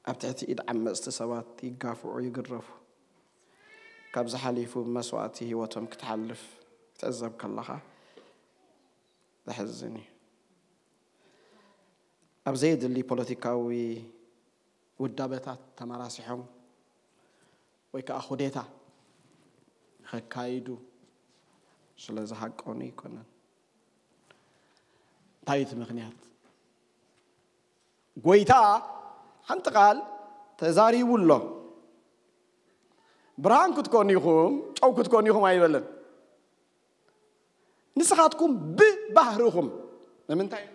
ኣብ ትሕቲ ኢድ ዓመጽቲ ሰባት ይጋፍዑ፣ ይግረፉ። ካብዚ ሓሊፉ ብመስዋእቲ ህይወቶም ክትሓልፍ ክትዕዘብ ከለኻ ዘሕዝን እዩ። ኣብ ዘየድሊ ፖለቲካዊ ውዳበታት ተመራሲሖም ወይ ከዓ ኩዴታ ከካይዱ ስለ ዝሃቀኑ ኣይኮነን። እንታይ እቲ ምኽንያት? ጎይታ ሓንቲ ቃል ተዛሪቡ ኣሎ። ብርሃን ክትኮኑ ኢኹም፣ ጨው ክትኮኑ ኢኹም ኣይበለን። ንስኻትኩም ብባህርኹም፣ ንምንታይ?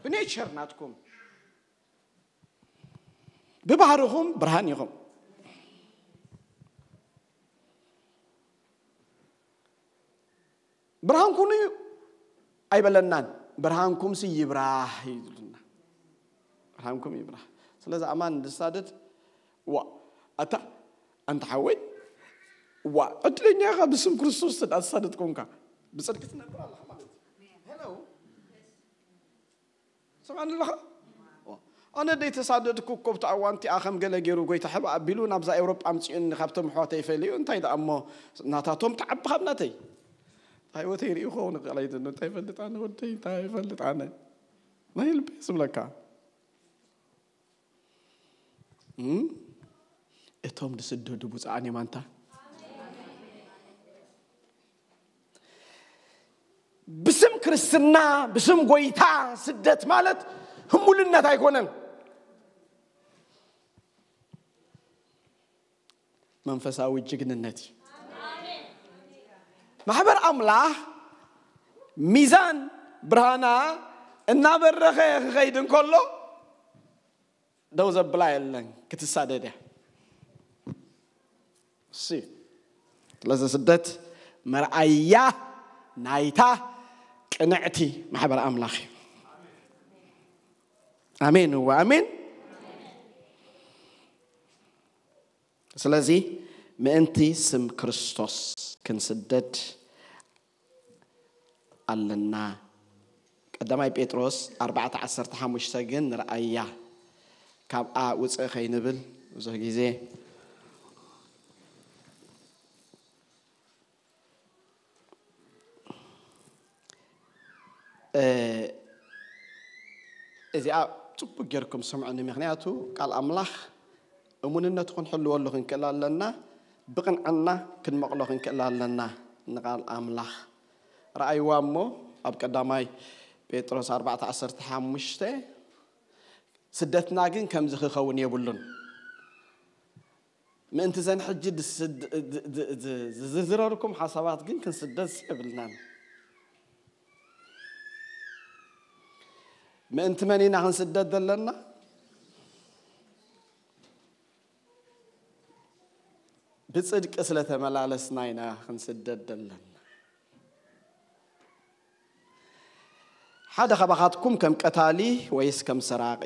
ብኔቸር ናትኩም፣ ብባህርኹም ብርሃን ኢኹም። ብርሃን ኩኑ ኣይበለናን። ብርሃንኩምሲ ይብራህ እዩ ዝብለና። ብርሃንኩም ይብራህ። ስለዚ ኣማን ዝሳደድ፣ ዋ፣ ኣታ፣ ኣንታ ሓወይ፣ ዋ፣ ዕድለኛ ኢኻ፣ ብስም ክርስቶስ ተዳ ዝሳደድ ኮንካ፣ ብጽድቂ ትነብር ኣለኻ ማለት እዩ። ሄሎ፣ ሰማዕኒ ኣለኻ? ዋ፣ ኣነ ደይ ተሳደድኩ እኮ፣ ብቲ ኣዋንቲ ኣኸም ገለ ገይሩ ጎይታ ሕባ ኣቢሉ ናብዛ ኤውሮጳ ኣምጺኡኒ፣ ካብቶም ኣሕዋተይ ፈሊዩ፣ እንታይ ደኣ እሞ ናታቶም ተዓቢ ካብ ናተይ። እንታይ ህይወተይ ርእዩ ክኸውን ይኽእል ኣይደን፣ እንታይ ይፈልጥ ኣነ ወደይ፣ እንታይ ይፈልጥ ኣነ። ናይ ልበይ ዝብለካ። እም? እቶም ዝስደዱ ብፁዓን እዮም ኣንታ። ብስም ክርስትና፣ ብስም ጎይታ ስደት ማለት ህሙልነት ኣይኮነን። መንፈሳዊ ጅግንነት እዩ። ማሕበር ኣምላኽ ሚዛን ብርሃና እናበረኸ ክኸይድ እንከሎ ደው ዘብላ የለን፣ ክትሳደድ እያ። እሺ፣ ስለዚ ስደት መርኣያ ናይታ ቅንዕቲ ማሕበር ኣምላኽ እዩ። ኣሜን፣ እወ፣ ኣሜን። ስለዚ ምእንቲ ስም ክርስቶስ ክንስደድ ኣለና። ቀዳማይ ጴጥሮስ ኣርባዕተ ዓሰርተ ሓሙሽተ ግን ንርኣያ፣ ካብኣ ውፅእ ከይንብል ብዙሕ ግዜ እ፣ እዚኣ ጽቡቅ ጌርኩም ስምዑኒ፣ ምኽንያቱ ቃል ኣምላኽ እሙንነቱ ክንሕልወሉ ክንክእል ኣለና፣ ብቕንዕና ክንመቕሎ ክንክእል ኣለና ንቃል ኣምላኽ። ረኣይዋ እሞ ኣብ ቀዳማይ ጴጥሮስ ኣርባዕተ ዓሰርተ ሓሙሽተ፣ ስደትና ግን ከምዚ ክኸውን የብሉን። ምእንቲ ዘን ሕጂ ድስድ-፣ ድ-፣ ድ-፣ ድ-፣ ዝዝርዝረልኩም ሓሳባት ግን ክንስደድ የብልናን። ምእንቲ መን ኢና ክንስደድ ዘለና? ብጽድቂ ስለ ተመላለስና ኢና ክንስደድ ዘለና። ሓደ ካባኻትኩም ከም ቀታሊ ወይስ ከም ሰራቒ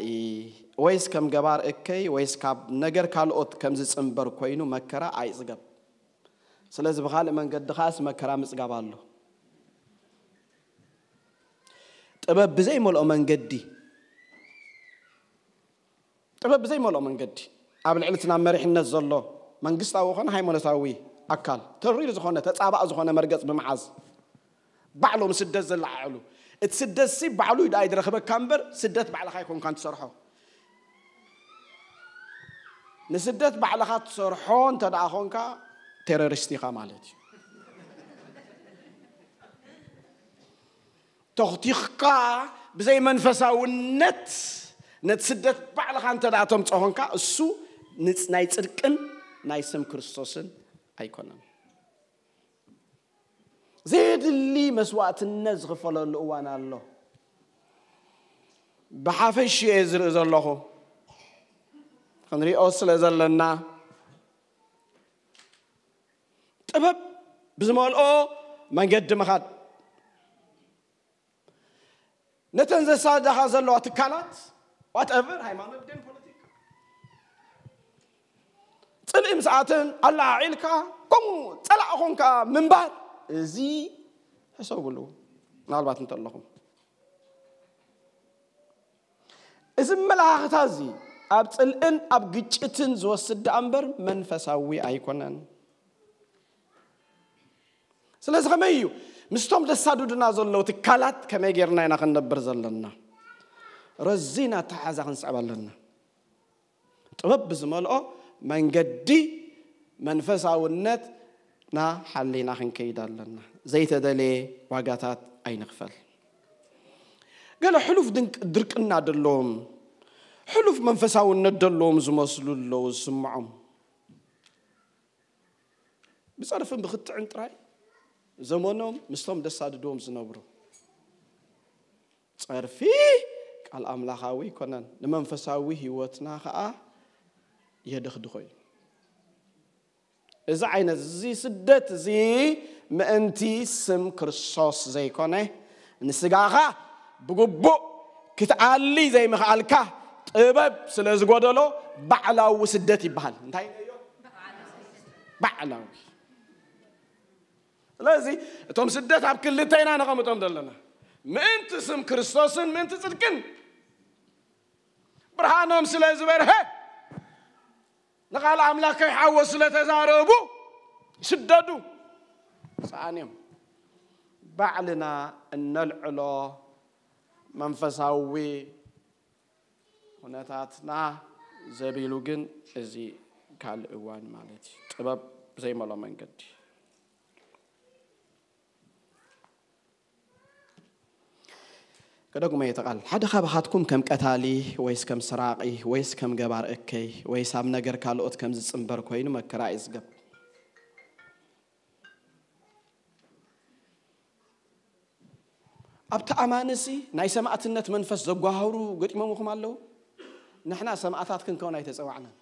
ወይስ ከም ገባር እከይ ወይስ ካብ ነገር ካልኦት ከም ዝጽንበር ኮይኑ መከራ ኣይጽገብ። ስለዚ ብኻልእ መንገዲ ኸኣስ መከራ ምጽጋብ ኣሎ። ጥበብ ብዘይመልኦ መንገዲ፣ ጥበብ ብዘይመልኦ መንገዲ ኣብ ልዕሊ እቲ ናብ መሪሕነት ዘሎ መንግስታዊ ኾነ ሃይማኖታዊ ኣካል ተሪር ዝኾነ ተጻባእ ዝኾነ መርገጽ ብምሓዝ ባዕሎም ስደት ዘለዓዕሉ። እቲ ስደት ሲ ባዕሉ እዩ ደኣ ይድረኽበካ እምበር፣ ስደት ባዕልኻ ኣይኮንካን ትሰርሖ። ንስደት ባዕልኻ ትሰርሖ እንተ ደኣ ኾንካ፣ ቴሮሪስት ኢኻ ማለት እዩ። ተኽቲኽካ ብዘይ መንፈሳውነት ነቲ ስደት ባዕልኻ እንተ ደኣ ተምጽኦ ኾንካ፣ እሱ ንጽ-፣ ናይ ጽድቅን ናይ ስም ክርስቶስን ኣይኮነን። ዘየድሊ መስዋእትነት ዝኽፈለሉ እዋን ኣሎ። ብሓፈሽ እየ ዝርኢ ዘለኹ። ክንሪኦ ስለ ዘለና፣ ጥበብ ብዝመልኦ መንገዲ ምኻድ። ነተን ዘሳድዳኻ ዘለዋ ትካላት፣ ዋትኤቨር፣ ሃይማኖት ድን ፖለቲካ፣ ጽልኢ ምስ ኣተን ኣለዓዒልካ፣ ከምኡ ጸላእ ኾንካ ምንባር፣ እዚ ሕሰብሉ። ምናልባት እንተለኹም፣ እዚ መለኻኽታ እዚ ኣብ ጽልእን ኣብ ግጭትን ዝወስድ ደኣ እምበር መንፈሳዊ ኣይኮነን። ስለዚ ከመይ እዩ ምስቶም ዘሳድዱና ዘለዉ ትካላት ከመይ ጌርና ኢና ክንነብር ዘለና? ረዚን ኣተሓሕዛ ክንስዕብ ኣለና። ጥበብ ብዝመልኦ መንገዲ መንፈሳውነትና ሓሊና ክንከይድ ኣለና። ዘይተደልየ ዋጋታት ኣይንኽፈል። ገለ ሕሉፍ ድንቅ-፣ ድርቅና ደለዎም፣ ሕሉፍ መንፈሳውነት ደለዎም ዝመስሉ ኣለዉ ዝስምዖም። ብጸርፍን ብኽትዕን ጥራይ ዘመኖም ምስቶም ደሳድድዎም ዝነብሩ። ጸርፊ ቃል ኣምላኻዊ ኣይኮነን፣ ንመንፈሳዊ ህይወትና ኸኣ የደኽድኾ እዩ። እዚ ዓይነት እዚ ስደት እዚ ምእንቲ ስም ክርስቶስ ዘይኮነ፣ ንስጋኻ ብግቡእ ክትኣሊ ዘይምኽኣልካ ጥበብ ስለ ዝጎደሎ ባዕላዊ ስደት ይበሃል። እንታይ ኢለዮ? ባዕላዊ። ስለዚ እቶም ስደት ኣብ ክልተ ኢና ነቐምጦም ዘለና። ምእንቲ ስም ክርስቶስን ምእንቲ ጽድቅን። ብርሃኖም ስለ ዝበርሀ፣ ንቓል ኣምላኽ ከይሓወሱ ስለ ተዛረቡ ይስደዱ። ሰኣን እዮም። ባዕልና እነልዕሎ መንፈሳዊ ኩነታትና ዘቢሉ ግን፣ እዚ ካልእ እዋን ማለት እዩ። ጥበብ ዘይመሎ መንገዲ። ከደግሞ እየ እቲ ቃል። ሓደ ካባኻትኩም ከም ቀታሊ፣ ወይስ ከም ሰራቒ፣ ወይስ ከም ገባር እከይ፣ ወይስ ኣብ ነገር ካልኦት ከም ዝጽንበር ኮይኑ መከራ ይጽገብ። ኣብቲ ኣማንሲ ናይ ሰማእትነት መንፈስ ዘጓሃህሩ ገጢሞምኹም ኣለዉ? ንሕና ሰማእታት ክንከውን ኣይተጸዋዕናን።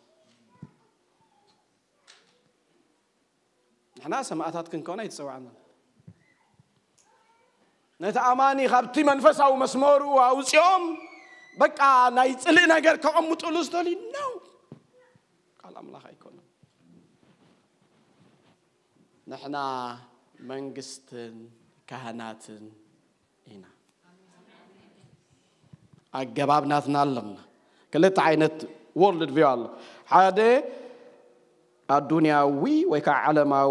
ንሕና ሰማእታት ክንከውን ኣይተጸዋዕናን። ነቲ ኣማኒ ካብቲ መንፈሳዊ መስመሩ ኣውጺኦም፣ በቃ፣ ናይ ጽልኢ ነገር ከቐምጥሉ ዝደልዩ ነው። ቃል ኣምላኽ ኣይኮነን። ንሕና መንግስትን ካህናትን ኢና። ኣገባብ ናትና ኣለና። ክልተ ዓይነት ወርልድ ቪው ኣሎ። ሓደ ኣዱንያዊ ወይ ከዓ ዓለማዊ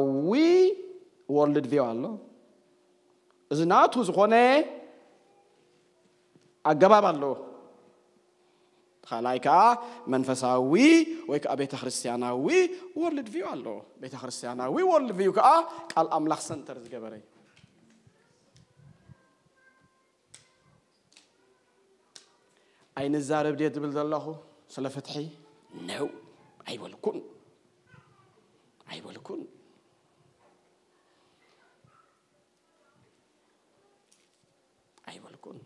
ወርልድ ቪው ኣሎ። እዚ ናቱ ዝኾነ ኣገባብ ኣለዎ። ካልኣይ ከዓ መንፈሳዊ ወይ ከዓ ቤተ ክርስቲያናዊ ወርልድ ቪው ኣለዎ። ቤተ ክርስቲያናዊ ወርልድ ቪው ከዓ ቃል ኣምላኽ ሰንተር ዝገበረ እዩ። ኣይንዛረብ ድየ ዝብል ዘለኹ ስለ ፍትሒ? ነው፣ ኣይበልኩን፣ ኣይበልኩን፣ ኣይበልኩን።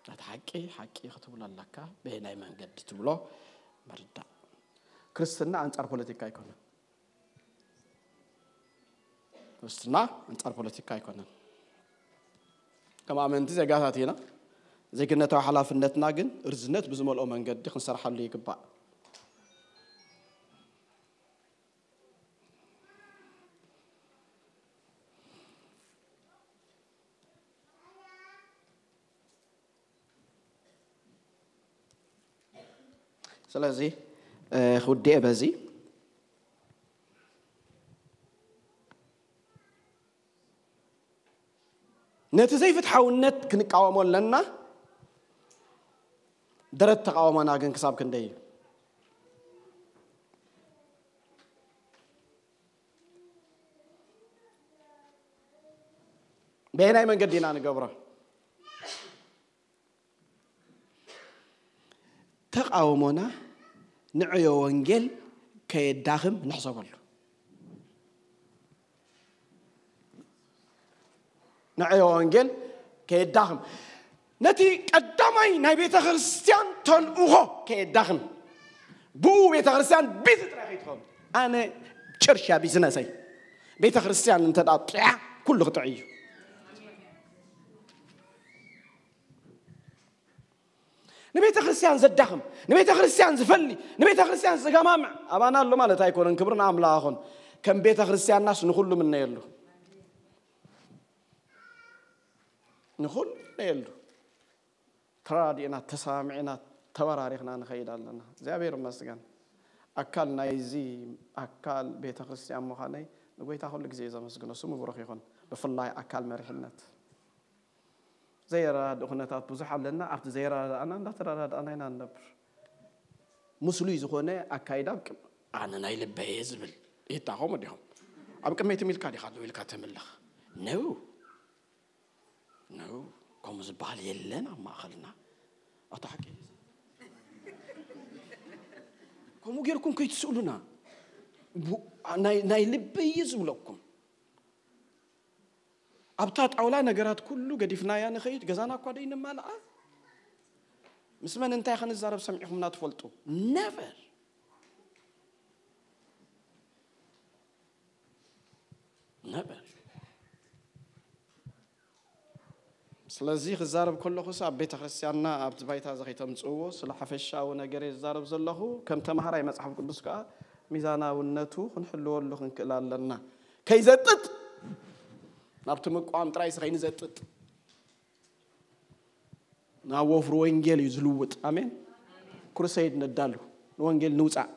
ነቲ ሓቂ ሓቂ ክትብሎ ኣለካ። በየናይ መንገዲ ትብሎ ምርዳእ። ክርስትና ኣንጻር ፖለቲካ ኣይኮነን። ክርስትና ኣንጻር ፖለቲካ ኣይኮነን። ከም ኣመንቲ ዜጋታት ኢና። ዜግነታዊ ሓላፍነትና ግን ርዝነት ብዝመልኦ መንገዲ ክንሰርሓሉ ይግባእ። ስለዚ፣ እ፣ ክውድኤ በዚ። ነቲ ዘይፍትሓውነት ክንቃወሞ ኣለና። ደረት ተቃውሞና ግን ክሳብ ክንደይ እዩ? በየናይ መንገዲ ኢና ንገብሮ? ተቃውሞና ንዕዮ ወንጌል ከየዳኽም ንሕሰበሉ። ንዕዮ ወንጌል ከየዳኽም፣ ነቲ ቀዳማይ ናይ ቤተ ክርስቲያን ተልእኾ ከየዳኽም፣ ብኡ ቤተ ክርስቲያን ቢዚ ጥራይ ከይትኸውን። ኣነ ጭርሻ ቢዝነሰይ ቤተ ክርስቲያን እንተ ደኣ ጥዕያ፣ ኩሉ ክጥዕ እዩ። ንቤተ ክርስቲያን ዘዳኽም፣ ንቤተ ክርስቲያን ዝፈሊ፣ ንቤተ ክርስቲያን ዝገማምዕ ኣባና ኣሎ ማለት ኣይኮነን። ክብሪ ንኣምላኽ ይኹን። ከም ቤተ ክርስቲያንናስ ንኹሉ ምነየሉ፣ ንኹሉ ምነየሉ። ተራዲእና፣ ተሰማሚዕና፣ ተበራሪኽና ንኸይድ ኣለና። እግዚኣብሔር ይመስገን። ኣካል ናይዚ፣ ኣካል ቤተ ክርስቲያን ምዃነይ ንጎይታ ኩሉ ግዜ እየ ዘመስግኖ። ስሙ ብሩኽ ይኹን። ብፍላይ ኣካል መሪሕነት። ዘይረዳድእ ኩነታት ብዙሕ ኣለና። ኣብቲ ዘይረዳድኣና እንዳተረዳድኣና ኢና ንነብር። ምስሉይ ዝኾነ ኣካይዳ ኣብ ቅም-፣ ኣነ ናይ ልበየ ዝብል ይታኸሙ ዲኹም? ኣብ ቅድመይ ትም ኢልካ ዲኻ ደው ኢልካ ተምልኽ? ነው፣ ነው። ከምኡ ዝበሃል የለን ኣብ ማእኸልና። ኣታ ሓቂ፣ ከምኡ ጌርኩም ከይትስእሉና። ቡ-፣ ናይ፣ ናይ ልበየ ዝብለኩም። ኣብታ ጣውላ ነገራት ኩሉ ገዲፍናያ ንኸይድ፣ ገዛና እኳ ደይንማልኣ። ምስ መን እንታይ ክንዛረብ ሰሚዕኹምና ትፈልጡ? ነቨር። ነቨር። ስለዚ ክዛረብ ከለኹስ ኣብ ቤተ ክርስቲያንና ኣብቲ ባይታ እዚ ከይተምጽእዎ፣ ስለ ሓፈሻዊ ነገር እየ ዝዛረብ ዘለኹ። ከም ተምሃራይ መጽሓፍ ቅዱስ ከኣ ሚዛናውነቱ ክንሕልወሉ ክንክእል ኣለና። ከይዘጥጥ፣ ናብቲ ምቋም ጥራይስ ከይንዘጥጥ። ናብ ወፍሪ ወንጌል እዩ ዝልውጥ። ኣሜን። ክሩሰይድ ነዳሉ፣ ንወንጌል ንውጻእ።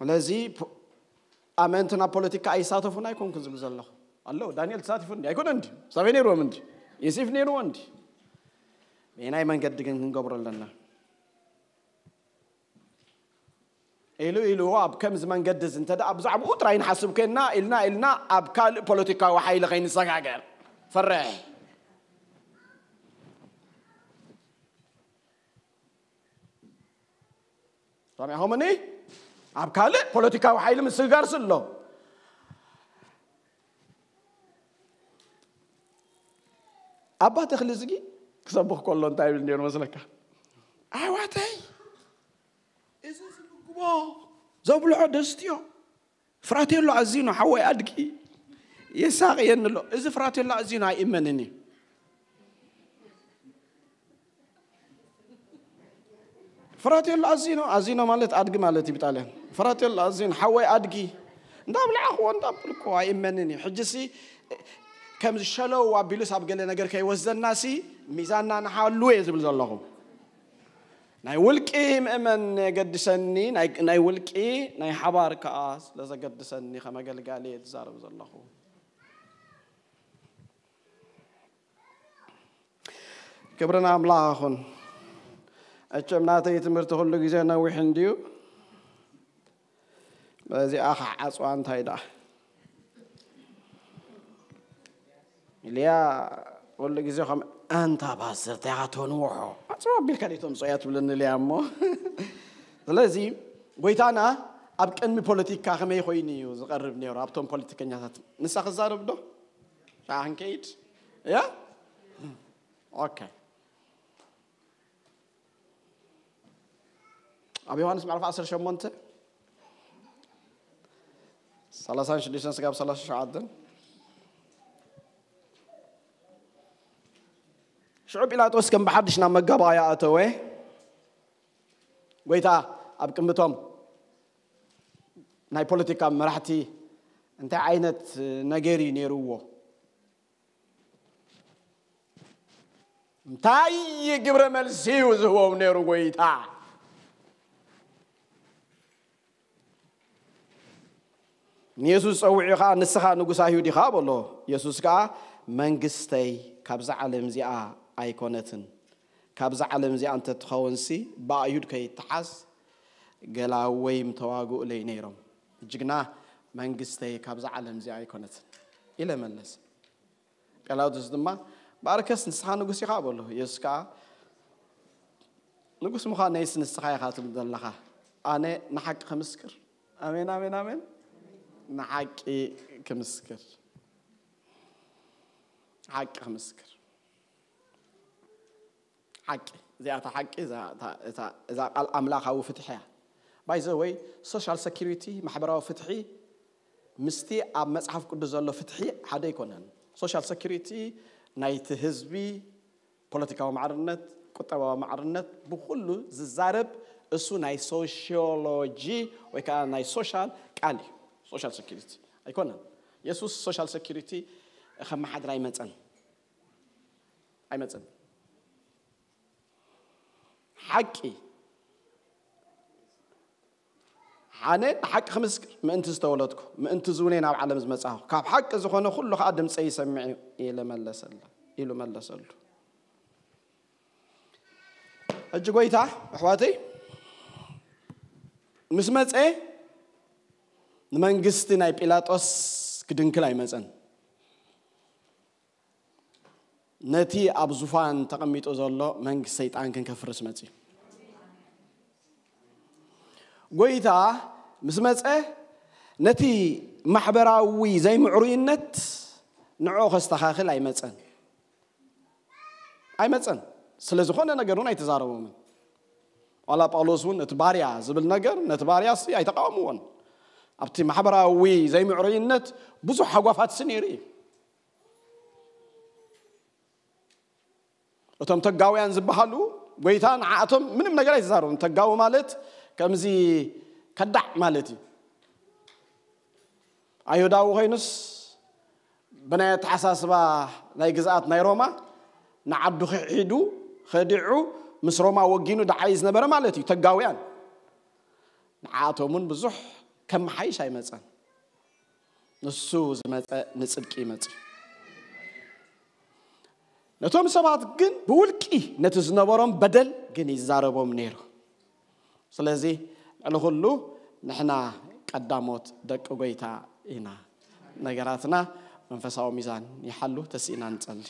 ስለዚ ፖ-፣ ኣመንቲ ናብ ፖለቲካ ኣይሳተፉን ኣይኮንኩን ዝብል ዘለኹ። ኣሎ ዳንኤል ተሳቲፉ እንዲ ኣይኮነ እንዲ? ሳበይ ነይርዎም እንዲ? ዮሴፍ ነይርዎ እንዲ? በየናይ መንገዲ ግን ክንገብሮ ኣለና? ኢሉ ኢሉ ኣብ ከምዚ መንገዲ እዚ እንተ ደኣ ብዛዕባኡ ጥራይ ንሓስብ ኮይንና፣ ኢልና ኢልና ኣብ ካልእ ፖለቲካዊ ሓይሊ ከይንሰጋገር ፈርሕ። ሰሚዕኹምኒ? ኣብ ካልእ ፖለቲካዊ ሓይሊ ምስግጋር ስሎ። ኣባ ተኽሊ ዝጊ ክሰብኽ ከሎ እንታይ ይብል ነይሩ መስለካ? ኣሕዋተይ፣ እዚ ዝምግቦ ዘብልዖ ደስትዮ፣ ፍራቴሎ ኣዚኖ ሓወይ ኣድጊ የሳቕየኒ ኣሎ። እዚ ፍራቴሎ ኣዚኖ ኣይእመንን እዩ። ፍራቴሎ ኣዚኖ፣ ኣዚኖ ማለት ኣድጊ ማለት እዩ ብጣልያን። ፍራቴሎ ኣዚኖ ሓወይ ኣድጊ እንዳብላዕኽዎ እንዳብልኮ ኣይእመንን እዩ። ሕጂሲ ከምዚ ሸለው ኣቢሉስ ኣብ ገለ ነገር ከይወስደናሲ ሚዛንና ንሓሉ እየ ዝብል ዘለኹ። ናይ ውልቂ ምእመን የገድሰኒ፣ ናይ፣ ናይ ውልቂ ናይ ሓባር ከኣ ስለ ዘገድሰኒ ከም ኣገልጋሊ እየ ዝዛረብ ዘለኹ። ክብሪ ንኣምላኽ ይኹን። እቸም ናተይ ትምህርቲ ኩሉ ግዜ ነዊሕ እንድዩ። በዚኣ ከዓ ዓፅዋ እንታይ ደኣ? ኢልያ ኩሉ ግዜ ከም ኣንታ ፓስተር እንታይ ኢኻ ተንውሖ? ዓፅዋ ኣቢልካ ደይ ተምፅኦ እያ ትብለኒ ኢልያ እሞ። ስለዚ ጎይታና ኣብ ቅድሚ ፖለቲካ ከመይ ኮይኑ እዩ ዝቐርብ ነይሩ? ኣብቶም ፖለቲከኛታት ንሳ ክዛረብ ዶ? ሻዓ ክንከይድ? እያ? ኦኬ። ኣብ ዮሃንስ ምዕራፍ ዓሰርተ ሸሞንተ፣ ሰላሳን ሽዱሽተን ስጋብ ሰላሳ ሸውዓተን። ሽዑ ጲላጦስ ከም ብሓድሽ ናብ መጋባእያ ኣተወ። ጎይታ ኣብ ቅምቶም ናይ ፖለቲካ መራሕቲ እንታይ ዓይነት ነገር እዩ ነይርዎ? እንታይ ግብረ መልሲ እዩ ዝህቦም ነይሩ ጎይታ? ንየሱስ ጸዊዑ ኸዓ፣ "ንስኻ ንጉስ ኣይሁድ ኢኻ?" በሎ። የሱስ ከኣ፣ "መንግስተይ ካብዛ ዓለም እዚኣ ኣይኮነትን። ካብዛ ዓለም እዚኣ እንተትኸውንሲ፣ ብኣይሁድ ከይተሓዝ ገላ ወይ ምተዋግኡለይ ነይሮም። ሕጂ ግና መንግስተይ ካብዛ ዓለም እዚኣ ኣይኮነትን" ኢለ መለሰ። ጲላጦስ ድማ፣ "እምበኣርከስ ንስኻ ንጉስ ኢኻ?" በሎ። የሱስ ከኣ፣ "ንጉስ ምዃነይስ ንስኻ ኢኻ ትብል ዘለኻ። ኣነ ንሓቂ ክምስክር"፣ ኣሜን፣ ኣሜን፣ ኣሜን። "ንሓቂ ክምስክር፣ ሓቂ ክምስክር፣ ሓቂ፣ እዚኣ እታ ሓቂ፣ እዛ፣ እታ፣ እታ፣ እዛ ቃል ኣምላኻዊ ፍትሒ እያ። By the way, ሶሻል ሰኪሪቲ፣ ማሕበራዊ ፍትሒ፣ ምስቲ ኣብ መጽሓፍ ቅዱስ ዘሎ ፍትሒ ሓደ ኣይኮነን። ሶሻል ሰኪሪቲ ናይቲ ህዝቢ ፖለቲካዊ ማዕርነት፣ ቁጠባዊ ማዕርነት ብኹሉ ዝዛረብ፣ እሱ ናይ ሶሽዮሎጂ ወይ ከዓ ናይ ሶሻል ቃል እዩ። ሶሻል ሰኪሪቲ ኣይኮነን። የሱስ ሶሻል ሰኪሪቲ ከመሓድር ኣይመጸን። ኣይመጸን። ሓቂ፣ ኣነ ንሓቂ ክምስክር ምእንቲ ዝተወለድኩ፣ ምእንቲ ዝውነ ናብ ዓለም ዝመጻኹ፣ ካብ ሓቂ ዝኾነ ኩሉ ኸዓ ድምፀይ ይሰምዕ እዩ ኢለ መለሰላ፣ ኢሉ መለሰሉ። ሕጂ ጎይታ፣ ኣሕዋተይ፣ ምስ መጸ፣ ንመንግስቲ ናይ ጲላጦስ ክድንክል ኣይመጸን። ነቲ ኣብ ዙፋን ተቐሚጡ ዘሎ መንግስቲ ሰይጣን ክንከፍርስ መጺኡ። ጎይታ ምስ መጸ፣ ነቲ ማሕበራዊ ዘይምዕሩይነት ንዕኡ ከስተኻኽል ኣይመጸን። ኣይመጸን። ስለ ዝኾነ ነገር እውን ኣይተዛረቦምን። ዋላ ጳውሎስ እውን እቲ ባርያ ዝብል ነገር፣ ነቲ ባርያ ሲ ኣይተቃወምዎን። ኣብቲ ማሕበራዊ ዘይምዕሩይነት ብዙሕ ሃጓፋት ሲ ነይሩ እዩ። እቶም ተጋውያን ዝበሃሉ፣ ጎይታ ንዓኣቶም ምንም ነገር ኣይተዛረቡን። ተጋዊ ማለት ከምዚ ከዳዕ ማለት እዩ። ኣይሁዳዊ ኮይኑስ፣ ብናይ ኣተሓሳስባ ናይ ግዝኣት ናይ ሮማ፣ ንዓዱ ክሒዱ፣ ኸዲዑ፣ ምስ ሮማ ወጊኑ ደዓይ ዝነበረ ማለት እዩ። ተጋውያን፣ ንዓኣቶም እውን ብዙሕ ከመሓይሽ ኣይመጸን። ንሱ ዝመጸ ንጽድቂ ይመጽእ። ነቶም ሰባት ግን ብውልቂ ነቲ ዝነበሮም በደል ግን ይዛረቦም ነይሩ። ስለዚ ልዕሊ ኩሉ ንሕና ቀዳሞት ደቂ ጎይታ ኢና። ነገራትና መንፈሳዊ ሚዛን ይሓሉ። ተሲእና ንጸሊ።